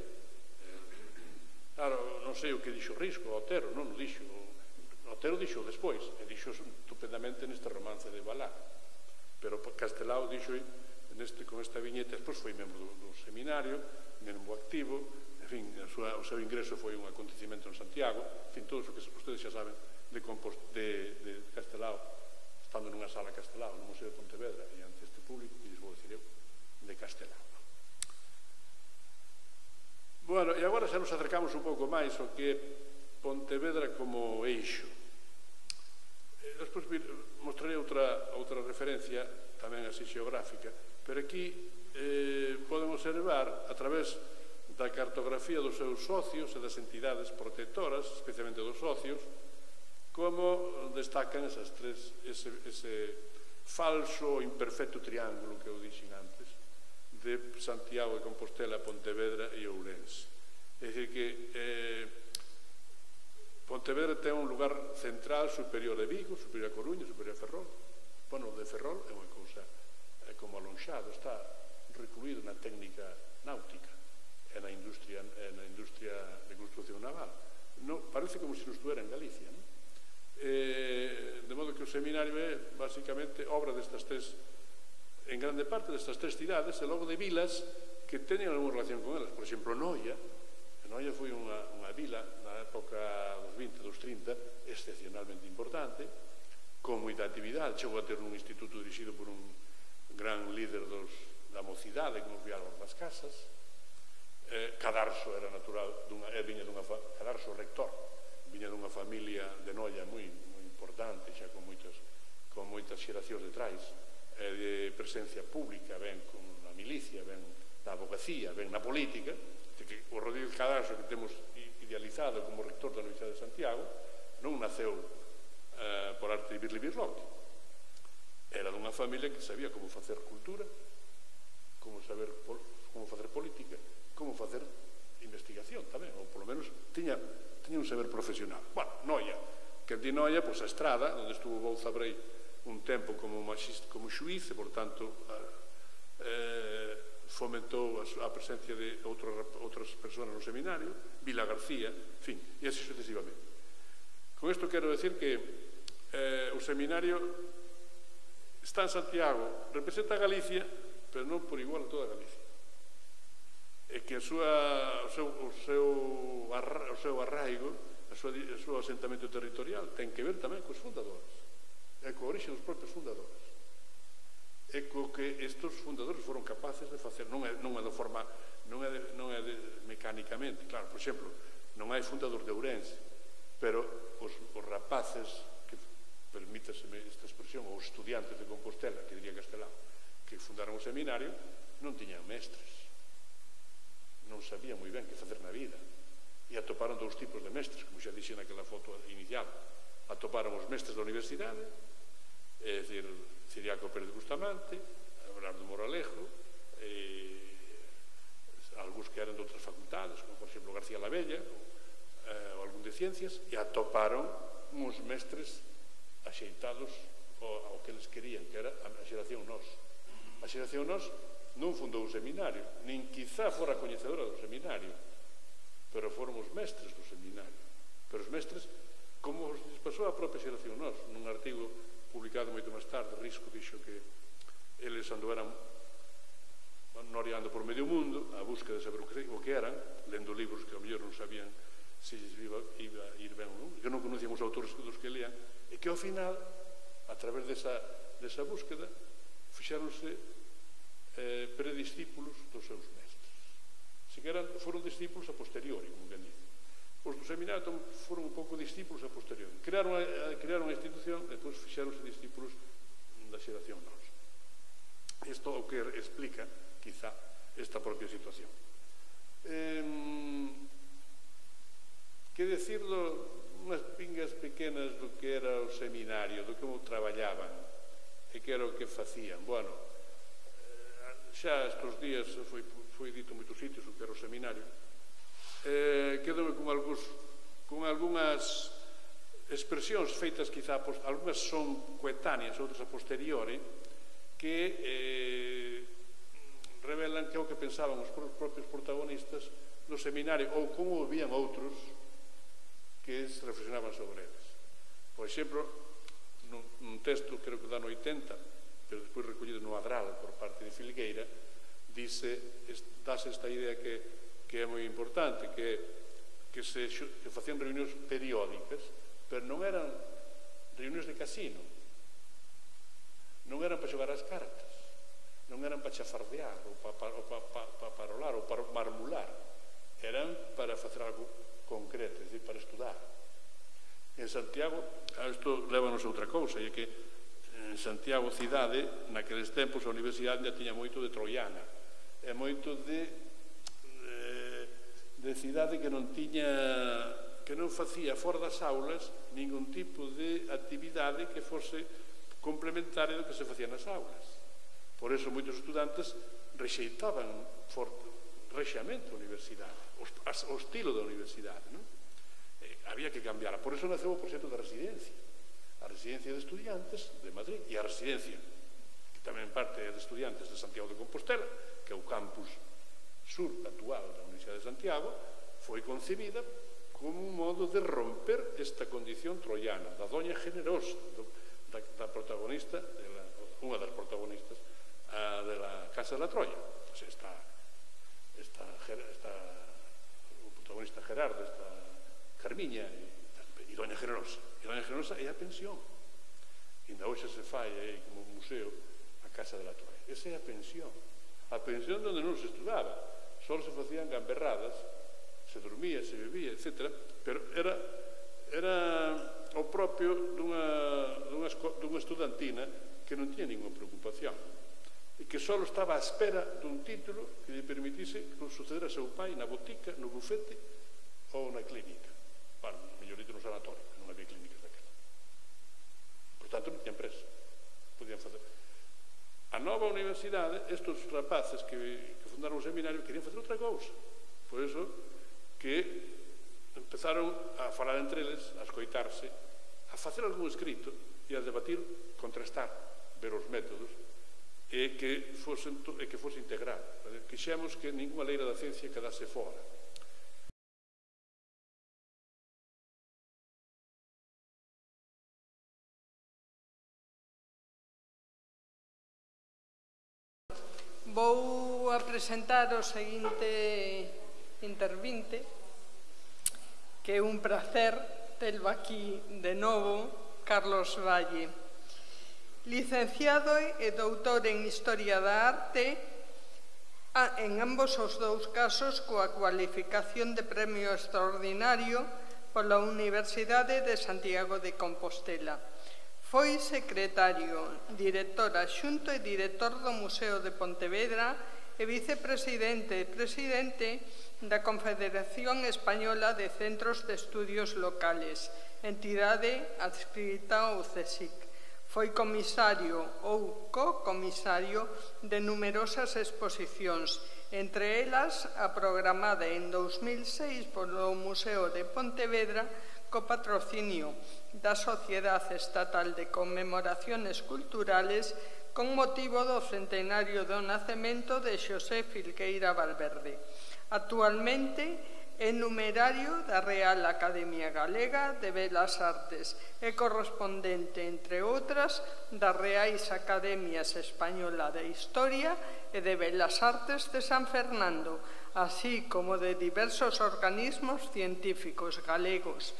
S4: Claro, non sei o que dixo Risco, Otero, non o dixo. Otero dixo despois, e dixo estupendamente neste romance de Valar. Pero Castelao dixo con esta viñeta, despois foi membro do seminario, membro activo, en fin, o seu ingreso foi un acontecimento en Santiago, en fin, todo o que ustedes xa saben de Castelao, estando nunha sala Castelao, no Museo de Pontevedra, e ante este público, que lles vou dicir eu, de Castelao. Bueno, e agora xa nos acercamos un pouco máis ao que é Pontevedra como eixo. Despois mostrarei outra referencia, tamén así xeográfica, pero aquí podemos observar, a través da cartografía dos seus socios e das entidades protectoras, especialmente dos socios, como destacan esas tres, ese falso imperfecto triángulo que eu dixen antes, de Santiago de Compostela, Pontevedra e Ourense. É dicir que Pontevedra ten un lugar central superior a Vigo, superior a Coruña, superior a Ferrol. Bueno, o de Ferrol é unha cousa como alonxado, está recluído na técnica náutica e na industria de construcción naval. Parece como se non estuera en Galicia, non? De modo que o seminario é basicamente obra destas tres, en grande parte destas tres cidades, e logo de vilas que teñen alguna relación con elas. Por exemplo, Noia foi unha vila na época dos 20, dos 30 excepcionalmente importante, con moita actividade. Chegou a ter un instituto dirixido por un gran líder da mocidade, como foi Álvaro das Casas. Cadarso era natural, viña Cadarso rector viña dunha familia de Noia moi importante, xa con moitas xeracións detrás, de presencia pública, ben con a milicia, ben na abogacía, ben na política, que o Rodríguez Cadaso que temos idealizado como rector da Universidade de Santiago non naceu por arte de Birli Birloque. Era dunha familia que sabía como facer cultura, como facer política, como facer investigación tamén, ou polo menos tiña un saber profesional. Bueno, Noia, que di Noia, pois a Estrada, onde estuvo Bouza Brei un tempo como xuiz, e, por tanto, fomentou a presencia de outras persoas no seminario, Vila García, en fin, e así sucesivamente. Con isto quero decir que o seminario está en Santiago, representa a Galicia, pero non por igual a toda Galicia. E que o seu arraigo, o seu asentamento territorial ten que ver tamén cos fundadores, e co orixe dos propios fundadores, e co que estes fundadores foron capaces de facer, non é de forma, non é mecánicamente, claro, por exemplo, non hai fundador de Ourense, pero os rapaces, que permítaseme esta expresión, os estudiantes de Compostela, que diría Castelao, que fundaron o seminario, non tiñan mestres, non sabían moi ben que facer na vida, e atoparon dous tipos de mestres, como xa dixen naquela foto inicial. Atoparon os mestres da universidade, é dicir, Ciriaco Pérez Bustamante, Abelardo Moralejo, algúns que eran de outras facultades, como por exemplo García Lavella, ou algún de ciencias, e atoparon uns mestres axeitados ao que eles querían, que era a xeración Nós. A xeración Nós non fundou o seminario, nin quizá fora coñecedora do seminario, pero foron os mestres do seminario. Pero os mestres, como os pasou a propia xeración Nós, nun artigo publicado moito máis tarde, Risco dixo que eles andaban noriando por medio mundo a busca de saber o que eran, lendo libros que ao mellor non sabían se iba a ir ben ou non, que non conocían os autores dos que leían, e que ao final, a través desa búsqueda, fixáronse prediscípulos dos seus mestres. Se que foron discípulos a posteriori, como ben dice. Os do seminario foron un pouco discípulos a posteriori. Crearon a institución e depois fixáronse discípulos da xeración Nós. Isto é o que explica, quizá, esta propia situación. Que decir unhas pingas pequenas do que era o seminario, do como traballaban e que era o que facían. Bueno, xa estes días foi dito en moitos sitios o que era o seminario. Quedoume con algunhas expresións feitas quizá, algunhas son coetáneas, outras a posteriori, que revelan que é o que pensaban os propios protagonistas no seminario, ou como vían outros que reflexionaban sobre eles. Por exemplo, nun texto, creo que do ano 80, pero despois recollido no Adral por parte de Filgueira, dáse esta idea que é moi importante, que facían reunións periódicas, pero non eran reunións de casino, non eran para xogar as cartas, non eran para chafardear, ou para parolar, ou para marmular, eran para facer algo concreto, é dicir, para estudar. En Santiago, isto lévanos a outra cousa, e é que en Santiago cidade, naqueles tempos a universidade já tiña moito de troiana, e moito de cidade que non facía fora das aulas ningún tipo de actividade que fose complementaria do que se facía nas aulas. Por eso moitos estudantes rexeitaban rexamente a universidade, o estilo da universidade, non? Había que cambiar. Por eso naceu o proxecto da residencia, a residencia de estudiantes de Madrid, e a residencia que tamén parte de estudiantes de Santiago de Compostela, que é o campus sur actual da Universidade de Santiago, foi concebida como un modo de romper esta condición troiana da doña generosa, da protagonista, unha das protagonistas da Casa de la Troia. O protagonista Gerardo, esta Carmiña e doña generosa. E doña generosa é a pensión. E ainda hoxe se fai aí como un museo a Casa de la Troia. Esa é a pensión. A pensión onde non se estudaba, só se facían gamberradas, se dormía, se bebía, etc. Pero era era o propio dunha estudantina que non tiña ninguna preocupación e que só estaba á espera dun título que lle permitise suceder a seu pai na botica, no bufete ou na clínica. Bueno, mellorito no sanatorio, non había clínicas daquela. Por tanto, non tiñan presa. Podían facer. A nova universidade, estes rapaces que fundaron o seminario querían facer outra cousa. Por iso que empezaron a falar entre eles, a escoitarse, a facer algún escrito e a debatir, contrastar, ver os métodos e que fose integral. Quixemos que ninguna leira da ciencia quedase fora.
S2: Vou a presentar o seguinte intervinte, que é un placer terlo aquí de novo, Carlos Valle. Licenciado e doutor en Historia da Arte, en ambos os dous casos coa cualificación de premio extraordinario pola Universidade de Santiago de Compostela. Foi secretario, director adxunto e director do Museo de Pontevedra e vicepresidente e presidente da Confederación Española de Centros de Estudios Locales, entidade adscrita ao CSIC. Foi comisario ou co-comisario de numerosas exposicións, entre elas a programada en 2006 polo Museo de Pontevedra co patrocinio da Sociedade Estatal de Conmemoraciones Culturales con motivo do centenario do nacemento de Xosé Filgueira Valverde. Actualmente é numerario da Real Academia Galega de Belas Artes e correspondente, entre outras, das Reais Academias Española de Historia e de Belas Artes de San Fernando, así como de diversos organismos científicos galegos,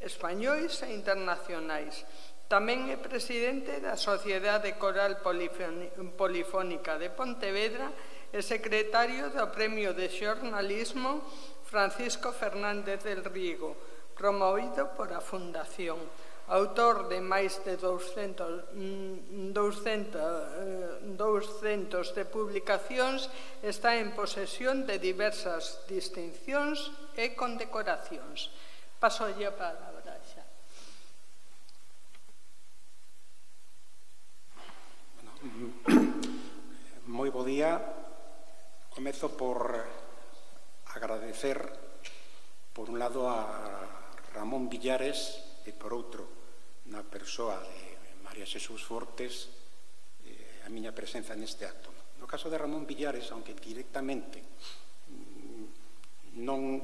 S2: españois e internacionais. Tamén é presidente da Sociedade Coral Polifónica de Pontevedra e secretario do Premio de Xornalismo Francisco Fernández del Riego, promovido por a Fundación. Autor de máis de 200 de publicacións, está en posesión de diversas distincións e condecoracións. Pasolle a palabra xa.
S5: Moi bo día. Comezo por agradecer, por un lado, a Ramón Villares e por outro, na persoa de María Xesús Fortes, a miña presenza neste acto. No caso de Ramón Villares, aunque directamente non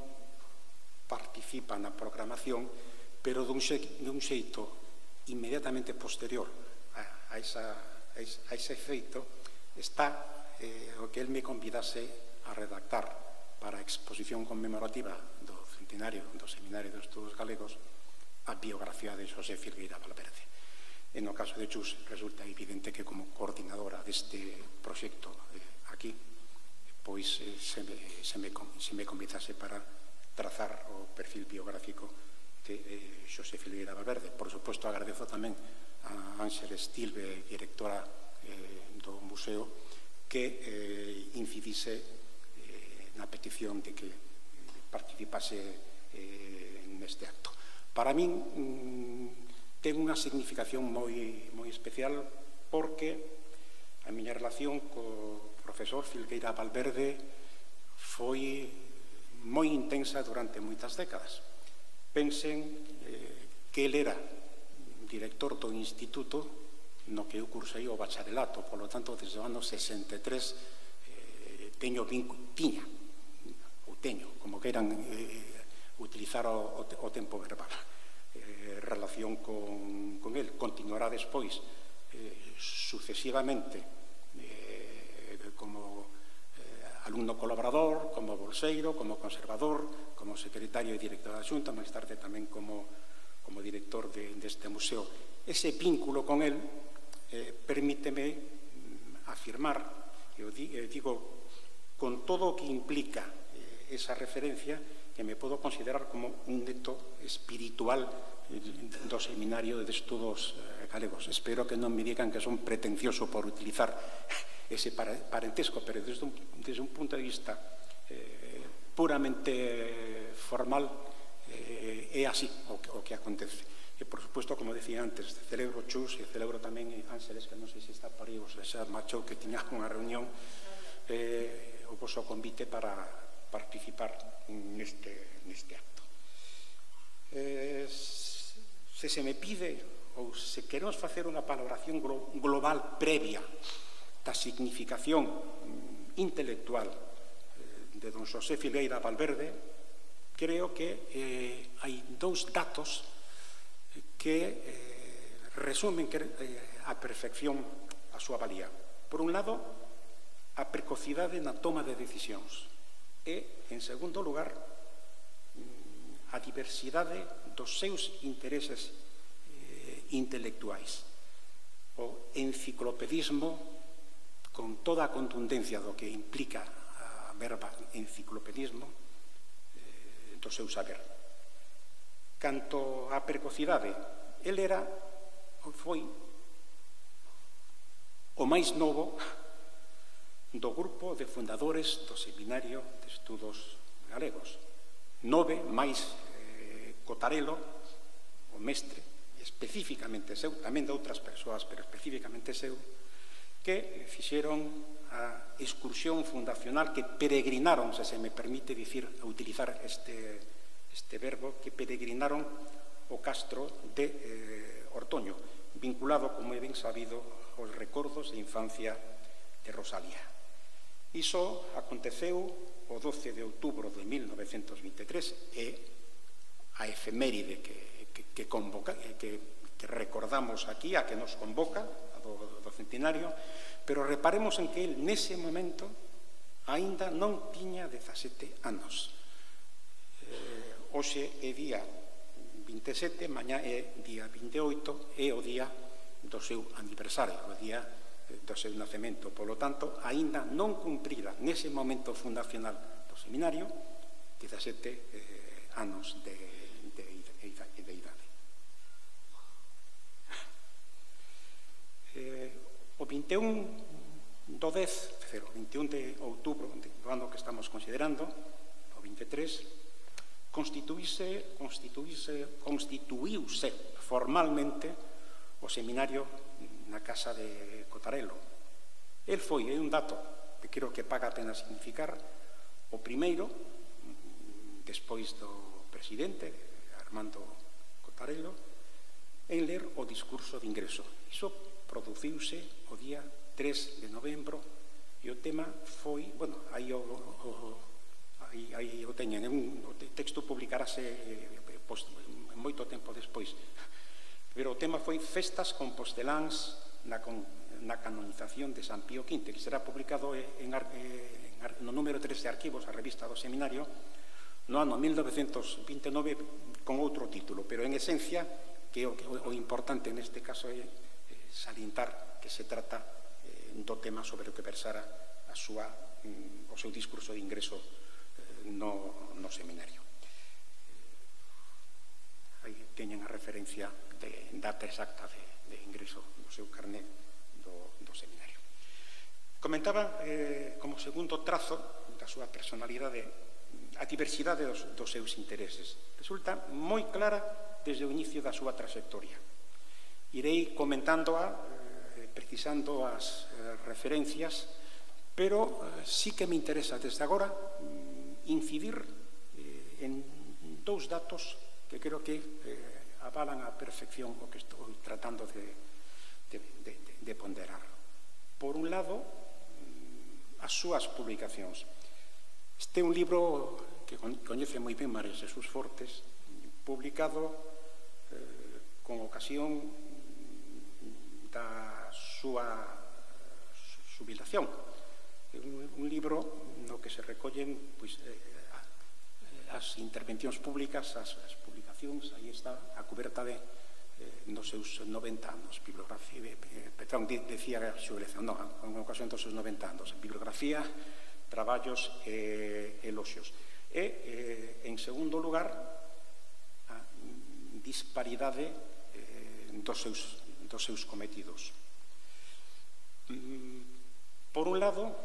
S5: participa na programación, pero dun xeito inmediatamente posterior a ese feito, está o que el me convidase a redactar para a exposición conmemorativa do centenario do Seminario de Estudos Galegos a biografía de Xosé Filgueira Valverde. En o caso de Chus, resulta evidente que como coordinadora deste proxecto aquí, pois se me convidase para trazar o perfil biográfico de Xosé Filgueira Valverde. Por suposto, agradezo tamén a Ángeles Tilbe, directora do museo, que incidise na petición de que participase neste acto. Para min ten unha significación moi especial porque a miña relación co profesor Filgueira Valverde foi moi intensa durante moitas décadas. Pensen que el era director do instituto no que eu cursei o bacharelato, polo tanto, desde o ano 63 teño, como queiran utilizar o tempo verbal, relación con el. Continuará despois sucesivamente como alumno colaborador, como bolseiro, como conservador, como secretario e director da Xunta, máis tarde tamén como director deste museo. Ese vínculo con el permíteme afirmar, eu digo con todo o que implica esa referencia, que me podo considerar como un neto espiritual do Seminario de Estudos Galegos. Espero que non me digan que son pretencioso por utilizar ese parentesco, pero desde un punto de vista puramente formal é así o que acontece. E, por suposto, como decía antes, celebro Chus e celebro tamén Ángeles, que non sei se está por aí, xa marchou, que tiña unha reunión, o vosso convite para participar neste acto. Se me pide, ou se queremos facer unha valoración global previa da significación intelectual de don Xosé Filgueira Valverde, creo que hai dous datos que resumen a perfección a súa valía. Por un lado, a precocidade na toma de decisións e, en segundo lugar, a diversidade dos seus intereses intelectuais. O enciclopedismo, con toda a contundencia do que implica a verba enciclopedismo, do seu saber. Canto á precocidade, el foi o máis novo do grupo de fundadores do Seminario de Estudos Galegos. 9 máis Cotarelo, o mestre, especificamente seu, tamén de outras persoas, pero especificamente seu, que fixeron a excursión fundacional, que peregrinaron, se me permite utilizar este verbo, que peregrinaron o castro de Ortoño, vinculado, como é ben sabido, aos recordos de infancia de Rosalía. Iso aconteceu o 12 de outubro de 1923 e a efeméride que recordamos aquí, a que nos convoca, a do centenario, pero reparemos en que el nese momento aínda non tiña 17 anos. Hoxe é día 27, mañá é día 28, é o día do seu aniversario, o día do seu nacemento. Polo tanto, aínda non cumprira nese momento fundacional do seminario 17 anos de idade. O 21 do 10, o 21 de outubro do ano que estamos considerando, o 23, constituíuse formalmente o seminario na casa de Cotarelo. El foi, é un dato que creo que paga a pena significar, o primeiro, despois do presidente Armando Cotarelo, en ler o discurso de ingreso. Iso produciuse o día 3 de novembro e o tema foi, bueno, aí o teñen, o texto publicarase moito tempo despois, pero o tema foi Festas composteláns na canonización de San Pío V, que será publicado no número 3 de Arquivos, a revista do seminario, no ano 1929 con outro título, pero en esencia que o importante neste caso é salientar que se trata do tema sobre o que versara o seu discurso de ingreso no seminario. Aí teñen a referencia de data exacta de ingreso do seu carné do seminario. Comentaba como segundo trazo da súa personalidade a diversidade dos seus intereses. Resulta moi clara desde o inicio da súa trayectoria. Irei comentándoa, precisando as referencias, pero sí que me interesa desde agora incidir en dous datos que creo que avalan a perfección o que estou tratando de ponderar. Por un lado, as súas publicacións. Este é un libro que coñece moi ben María Jesús Fortes, publicado con ocasión da súa xubilación. Un libro no que se recollen as intervencións públicas, as publicacións, aí está a coberta nos seus 90 anos, bibliografía, perdón, decía a xubilación, non, con ocasión dos seus 90 anos, bibliografía, traballos e eloxios. E, en segundo lugar, a disparidade dos seus cometidos. Por un lado,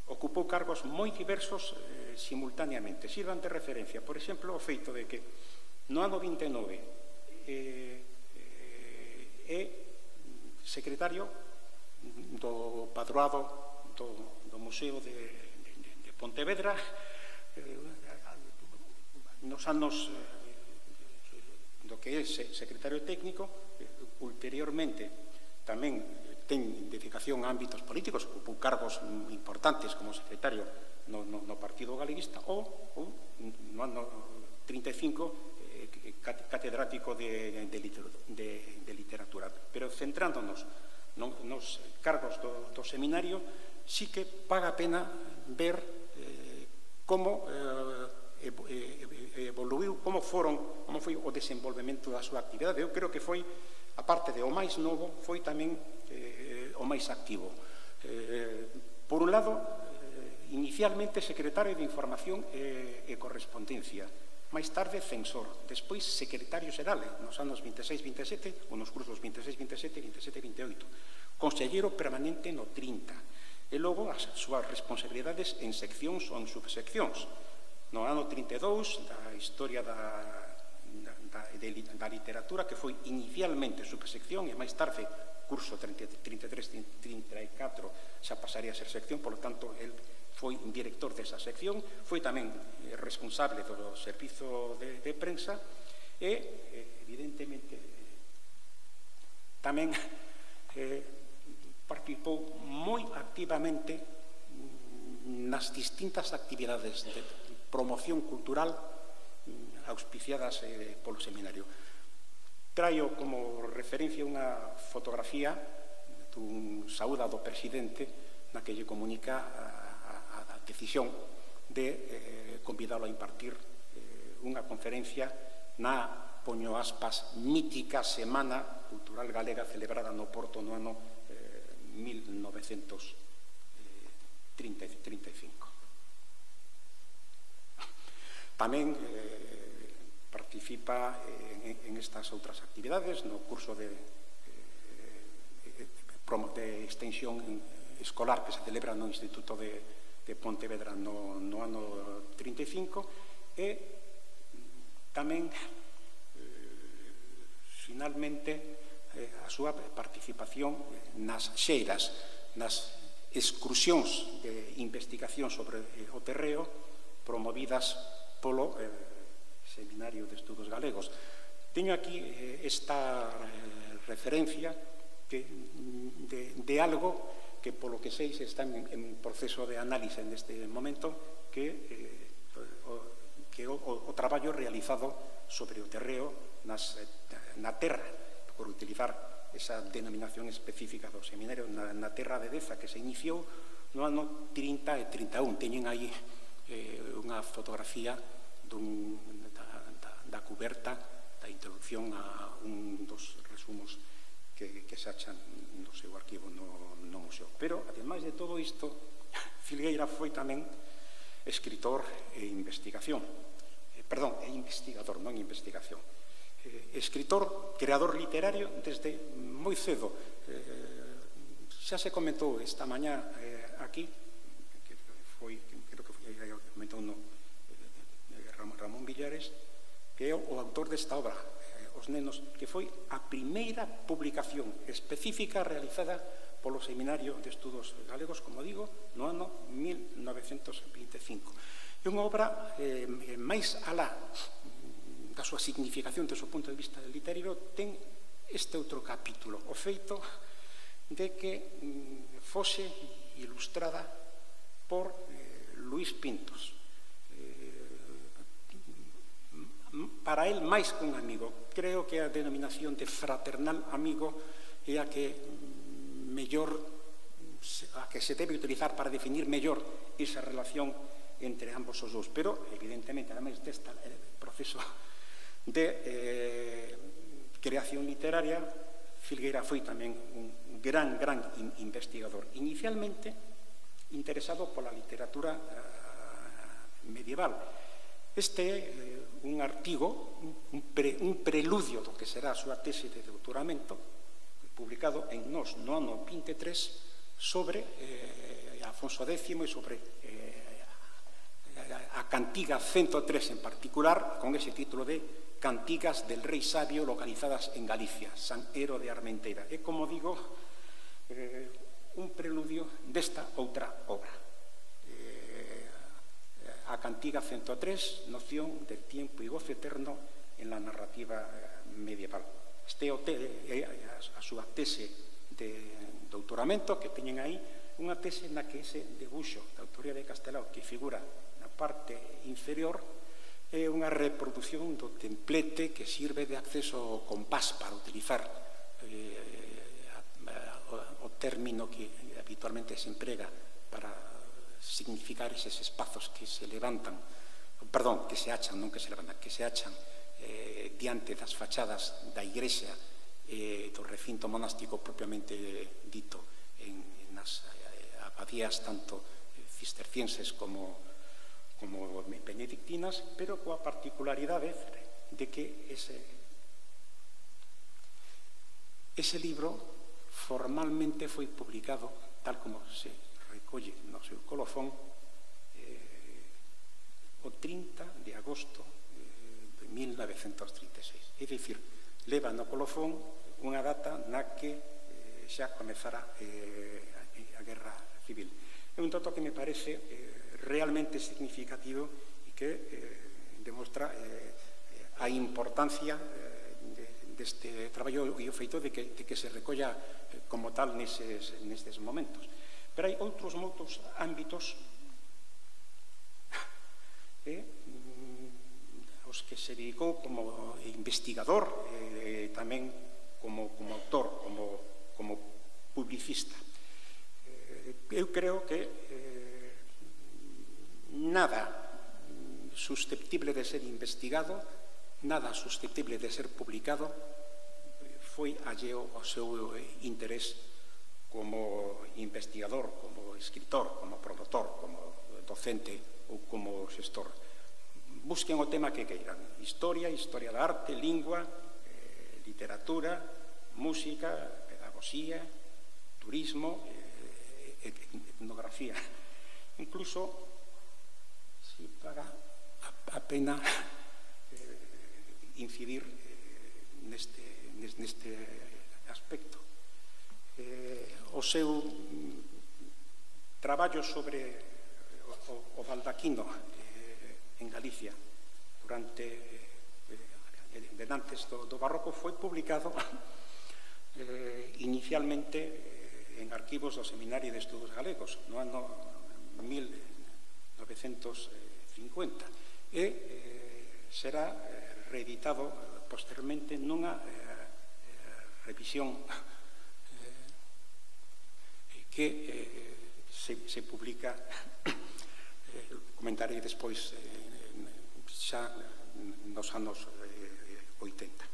S5: ocupou cargos moi diversos simultaneamente. Sirvan de referencia, por exemplo, o feito de que no ano 29 é secretario do padroado do Museo de Pontevedra nos anos do que é secretario técnico. Ulteriormente tamén ten dedicación a ámbitos políticos, ocupou cargos importantes como secretario no Partido Galeguista ou no ano 35 catedrático de literatura. Pero centrándonos nos cargos do seminario, sí que paga a pena ver como evoluiu, como foi o desenvolvemento da súa actividade. Eu creo que foi, aparte de o máis novo, foi tamén o máis activo. Por un lado, inicialmente secretario de Información e Correspondencia, máis tarde censor, despois secretario xeral nos anos 26-27, ou nos cursos 26-27 e 27-28, conselleiro permanente no 30, e logo as súas responsabilidades en seccións ou en subseccións. No ano 32, da historia da literatura, que foi inicialmente subsección e máis tarde curso 33-34 xa pasaría a ser sección, polo tanto, el foi director desa sección, foi tamén responsable do servizo de prensa e, evidentemente, tamén participou moi activamente nas distintas actividades de promoción cultural auspiciadas polo seminario. Traio como referencia unha fotografía dun saúda do presidente na que lle comunica a decisión de convidalo a impartir unha conferencia na, poño aspas, mítica Semana Cultural Galega celebrada no Porto no ano 1935. Tamén participa en estas outras actividades no curso de extensión escolar que se celebra no Instituto de Pontevedra no ano 35 e tamén finalmente a súa participación nas xeiras, nas excursións de investigación sobre o terreo promovidas polo Seminario de Estudos Galegos. Teño aquí esta referencia de algo que, polo que sei, se está en proceso de análise neste momento, que o traballo realizado sobre o terreo na terra, por utilizar esa denominación específica do seminario, na terra de Deza, que se iniciou no ano 30 e 31. Teñen aí unha fotografía da cuberta da introducción a un dos resumos que se achan no seu arquivo no museo. Pero, ademais de todo isto, Filgueira foi tamén escritor e investigación. Perdón, investigador, non investigación. Escritor, creador literario desde moi cedo. Xa se comentou esta mañá aquí, creo que comentou Ramón Villares, que é o autor desta obra, Os nenos, que foi a primeira publicación específica realizada polo Seminario de Estudos Galegos, como digo, no ano 1925. É unha obra máis alá da súa significación do seu punto de vista literario, ten este outro capítulo, o feito de que fose ilustrada por Luís Pintos. Para el, máis que un amigo. Creo que a denominación de fraternal amigo é a que se debe utilizar para definir mellor esa relación entre ambos os dous. Pero, evidentemente, ademais deste proceso de creación literaria, Filgueira foi tamén un gran investigador. Inicialmente interesado pola literatura medieval. Este é un artigo, un preludio do que será a súa tese de doutoramento, publicado en Nós no ano 23, sobre Afonso X e sobre a Cantiga 103 en particular, con ese título de Cantigas del Rei Sabio localizadas en Galicia, San Ero de Armenteira. É, como digo, un preludio desta outra obra. A Cantiga 103, noción del tiempo y goce eterno en la narrativa medieval. Este é a súa tese de doutoramento que teñen aí, unha tese na que ese debuxo da autoría de Castelao que figura na parte inferior é unha reproducción do templete que sirve de acceso ao compás para utilizar o término que habitualmente se emprega para significar eses espazos que se levantan, perdón, que se achan, non que se levantan, que se achan diante das fachadas da igrexa do recinto monástico propiamente dito en nas abadías tanto cistercienses como benedictinas, pero coa particularidade de que ese libro formalmente foi publicado, tal como se recolle no seu colofón, o 30 de agosto de 1936. É dicir, leva no colofón unha data na que xa comezara a Guerra Civil. É un dato que me parece realmente significativo e que demostra a importancia deste traballo e o feito de que se recolla como tal nestes momentos. Pero hai outros moitos ámbitos aos que se dedicou como investigador e tamén como autor, como publicista. Eu creo que nada susceptible de ser investigado, nada susceptible de ser publicado foi alleo ao seu interés como investigador, como escritor, como promotor, como docente ou como xestor. Busquen o tema que queiran: historia, historia da arte, lingua, literatura, música, pedagogía, turismo, etnografía. Incluso si paga a pena incidir neste aspecto. O seu traballo sobre o baldaquino en Galicia durante antes do barroco foi publicado inicialmente en arquivos do Seminario de Estudos Galegos no ano 1950 e será reeditado posteriormente nunha revisión que se publica, comentarei despois, xa nos anos 80.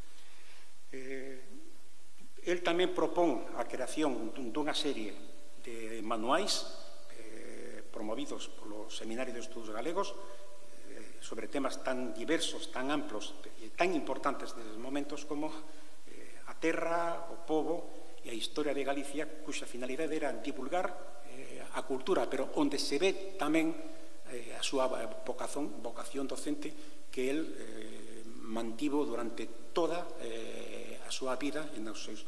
S5: El tamén propón a creación dunha serie de manuais promovidos polo Seminario de Estudos Galegos sobre temas tan diversos, tan amplos e tan importantes neses momentos como a terra, o pobo e a historia de Galicia, cuxa finalidade era divulgar a cultura, pero onde se ve tamén a súa vocación docente que el mantivo durante toda a súa vida en os seus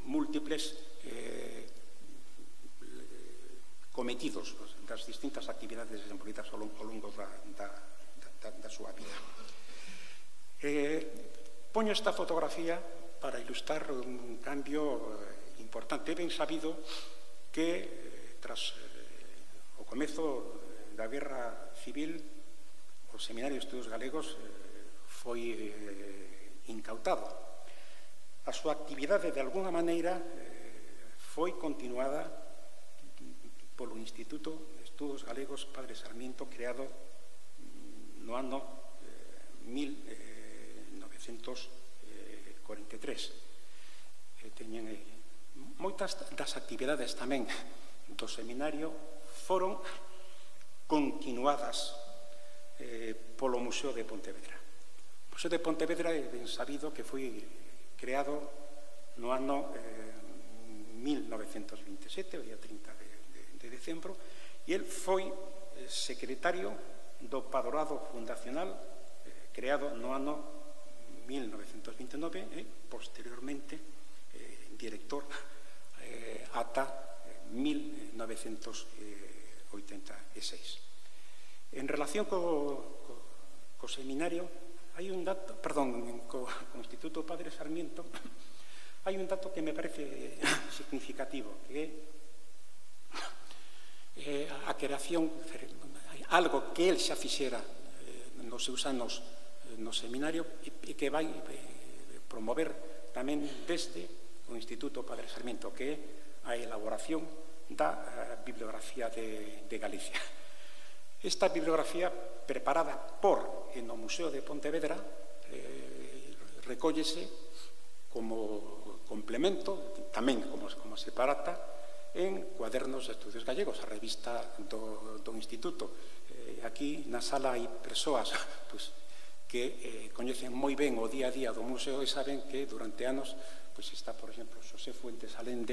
S5: múltiples cometidos das distintas actividades desenvolvidas ao longo da súa vida. Poño esta fotografía para ilustrar un cambio importante. É ben sabido que tras o comezo da Guerra Civil o Seminario de Estudos Galegos foi incautado. A súa actividade de alguna maneira foi continuada polo Instituto de Estudos Galegos Padre Sarmiento, creado no ano 1943. Teñen moitas das actividades tamén do seminario foron continuadas polo Museo de Pontevedra. O Museo de Pontevedra é ben sabido que foi creado no ano 1927, o día 30 de decembro, e el foi secretario do Padroado Fundacional creado no ano 1929 e posteriormente director ata 1986. En relación co seminario, hai un dato, perdón, co Instituto Padre Sarmiento, hai un dato que me parece significativo, que é a creación, algo que el xa fixera nos seus anos no seminario e que vai promover tamén desde o Instituto Padre Sarmiento, que é a elaboración da bibliografía de Galicia. Esta bibliografía preparada por no Museo de Pontevedra recóllese como complemento, tamén como separata, en Cuadernos de Estudios Gallegos, a revista do Instituto. Aquí na sala hai persoas que coñecen moi ben o día a día do museo e saben que durante anos está, por exemplo, Xosé Fuentes Alende,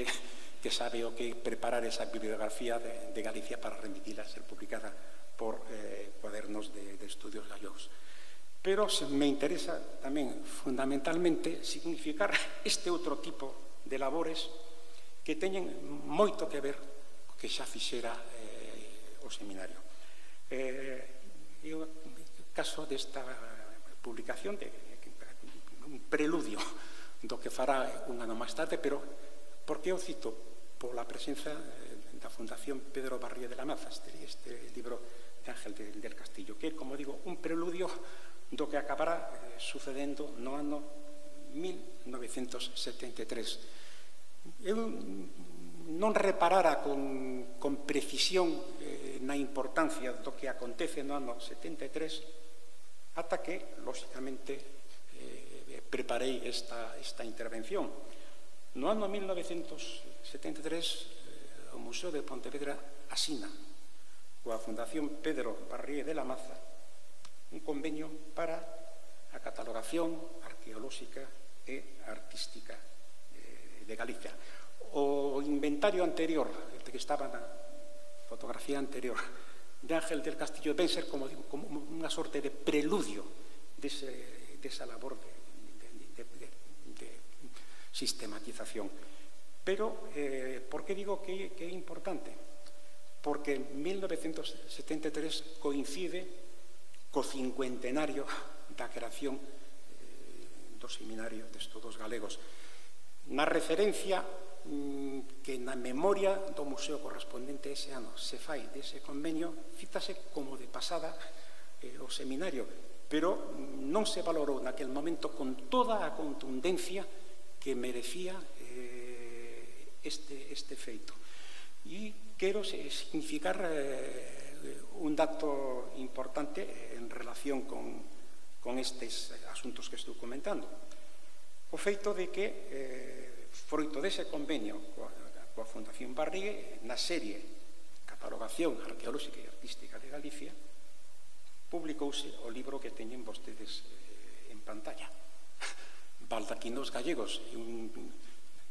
S5: que sabe o que preparar esa bibliografía de Galicia para remitila a ser publicada por Cuadernos de Estudios Gallegos. Pero me interesa tamén fundamentalmente significar este outro tipo de labores que teñen moito que ver co que xa fixera o seminario. O caso desta publicación de un preludio do que fará un ano máis tarde, pero por que o cito? Pola presenza da Fundación Pedro Barrié de la Maza, este libro de Ángel del Castillo, que é, como digo, un preludio do que acabará sucedendo no ano 1973. Eu non reparara con precisión na importancia do que acontece no ano 73 ata que, lóxicamente, preparei esta intervención. No ano 1973, o Museo de Pontevedra asina coa Fundación Pedro Barrié de la Maza un convenio para a catalogación arqueolóxica e artística de Galicia. O inventario anterior, que estaba na fotografía anterior de Ángel del Castillo, ven ser, como digo, como unha sorte de preludio desa labor de sistematización. Pero, por que digo que é importante? Porque 1973 coincide co cincuentenario da creación do Seminario de Estudos Galegos. Na referencia que na memoria do museo correspondente ese ano se fai dese convenio, cítase como de pasada o seminario, pero non se valorou naquel momento con toda a contundencia que merecía este feito. E quero significar un dato importante en relación con estes asuntos que estou comentando. O feito de que, froito dese convenio coa Fundación Barrié, na serie Catalogación Arqueolóxica e Artística de Galicia, publicouse o libro que teñen vostedes en pantalla, Baldaquinos Gallegos,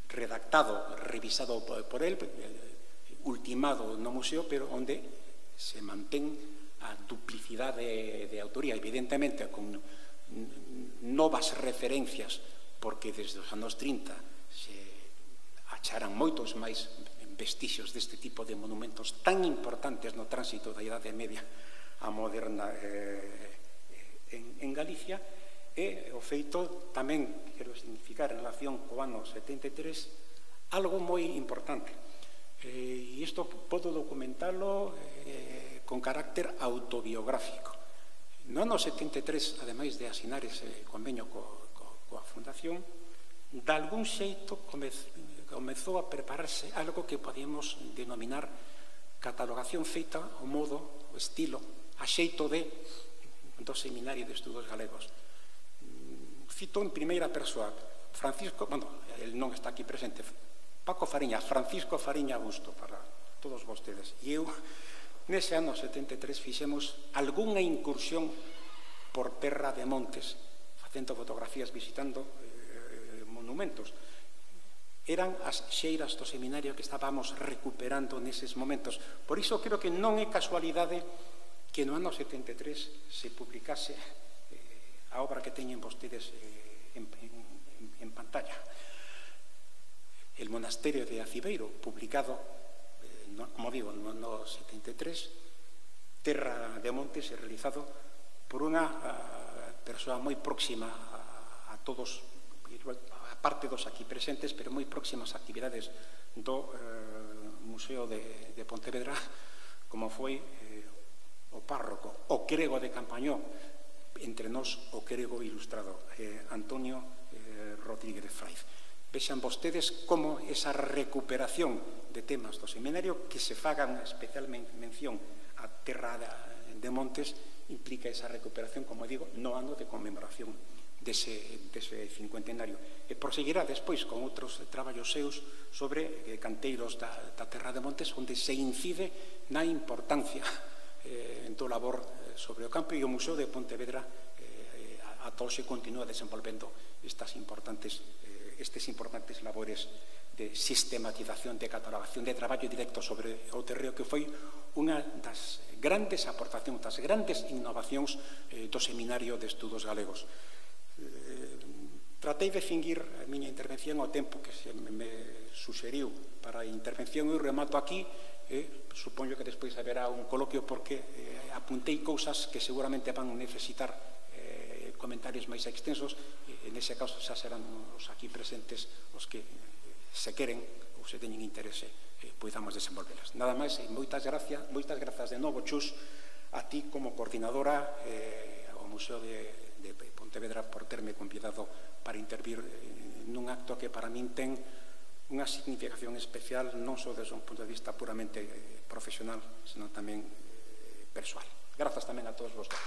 S5: redactado, revisado por él, ultimado no museo, pero onde se mantén a duplicidade de autoría, evidentemente con novas referencias, porque desde os anos 30 se acharan moitos máis vestixios deste tipo de monumentos tan importantes no tránsito da Idade Media a moderna en Galicia. E o feito tamén, quero significar en relación co ano 73, algo moi importante. E isto podo documentalo con carácter autobiográfico. No ano 73, ademais de asinar ese convenio coa Fundación, de algún xeito comezou a prepararse algo que podíamos denominar catalogación feita ao modo, o estilo, a xeito do Seminario de Estudos Galegos. Cito en primeira persoa Francisco, bueno, el non está aquí presente, Paco Fariña, Francisco Fariña Busto, para todos vostedes. E eu Nese ano 73 fixemos algunha incursión por terra de montes, facendo fotografías, visitando monumentos. Eran as xeiras do seminario que estábamos recuperando neses momentos. Por iso creo que non é casualidade que no ano 73 se publicase a obra que teñen vostedes en pantalla. El monasterio de Acibeiro, publicado, como digo, no ano 73, Terra de Montes, realizado por unha persoa moi próxima a todos, a parte dos aquí presentes, pero moi próximas actividades do Museo de Pontevedra, como foi o párroco, o crego de Campañó, entre nós o crego ilustrado, Antonio Rodríguez Fraiz. Vexan vostedes como esa recuperación de temas do seminario, que se fagan especial mención a Terra de Montes, implica esa recuperación, como digo, no ano de conmemoración dese cincuentenario. E proseguirá despois con outros traballos seus sobre canteiros da Terra de Montes, onde se incide na importancia do labor sobre o campo, e o Museo de Pontevedra ata hoxe continúa desenvolvendo estes importantes labores de sistematización, de catalogación, de traballo directo sobre o terreo, que foi unha das grandes aportacións, das grandes innovacións do Seminario de Estudos Galegos. Tratei de finguir a miña intervención ao tempo que se me suxeriu para a intervención, e remato aquí. Supoño que despois haberá un coloquio, porque apuntei cousas que seguramente van necesitar comentarios máis extensos, e nese caso xa serán os aquí presentes os que, se queren ou se teñen interese, podamos desenvolvelas. Nada máis, e moitas grazas de novo, Chus, a ti como coordinadora ao Museo de Pontevedra, por terme convidado para intervir nun acto que para min ten unha significación especial, non só desde un punto de vista puramente profesional, senón tamén persoal. Grazas tamén a todos vosotros.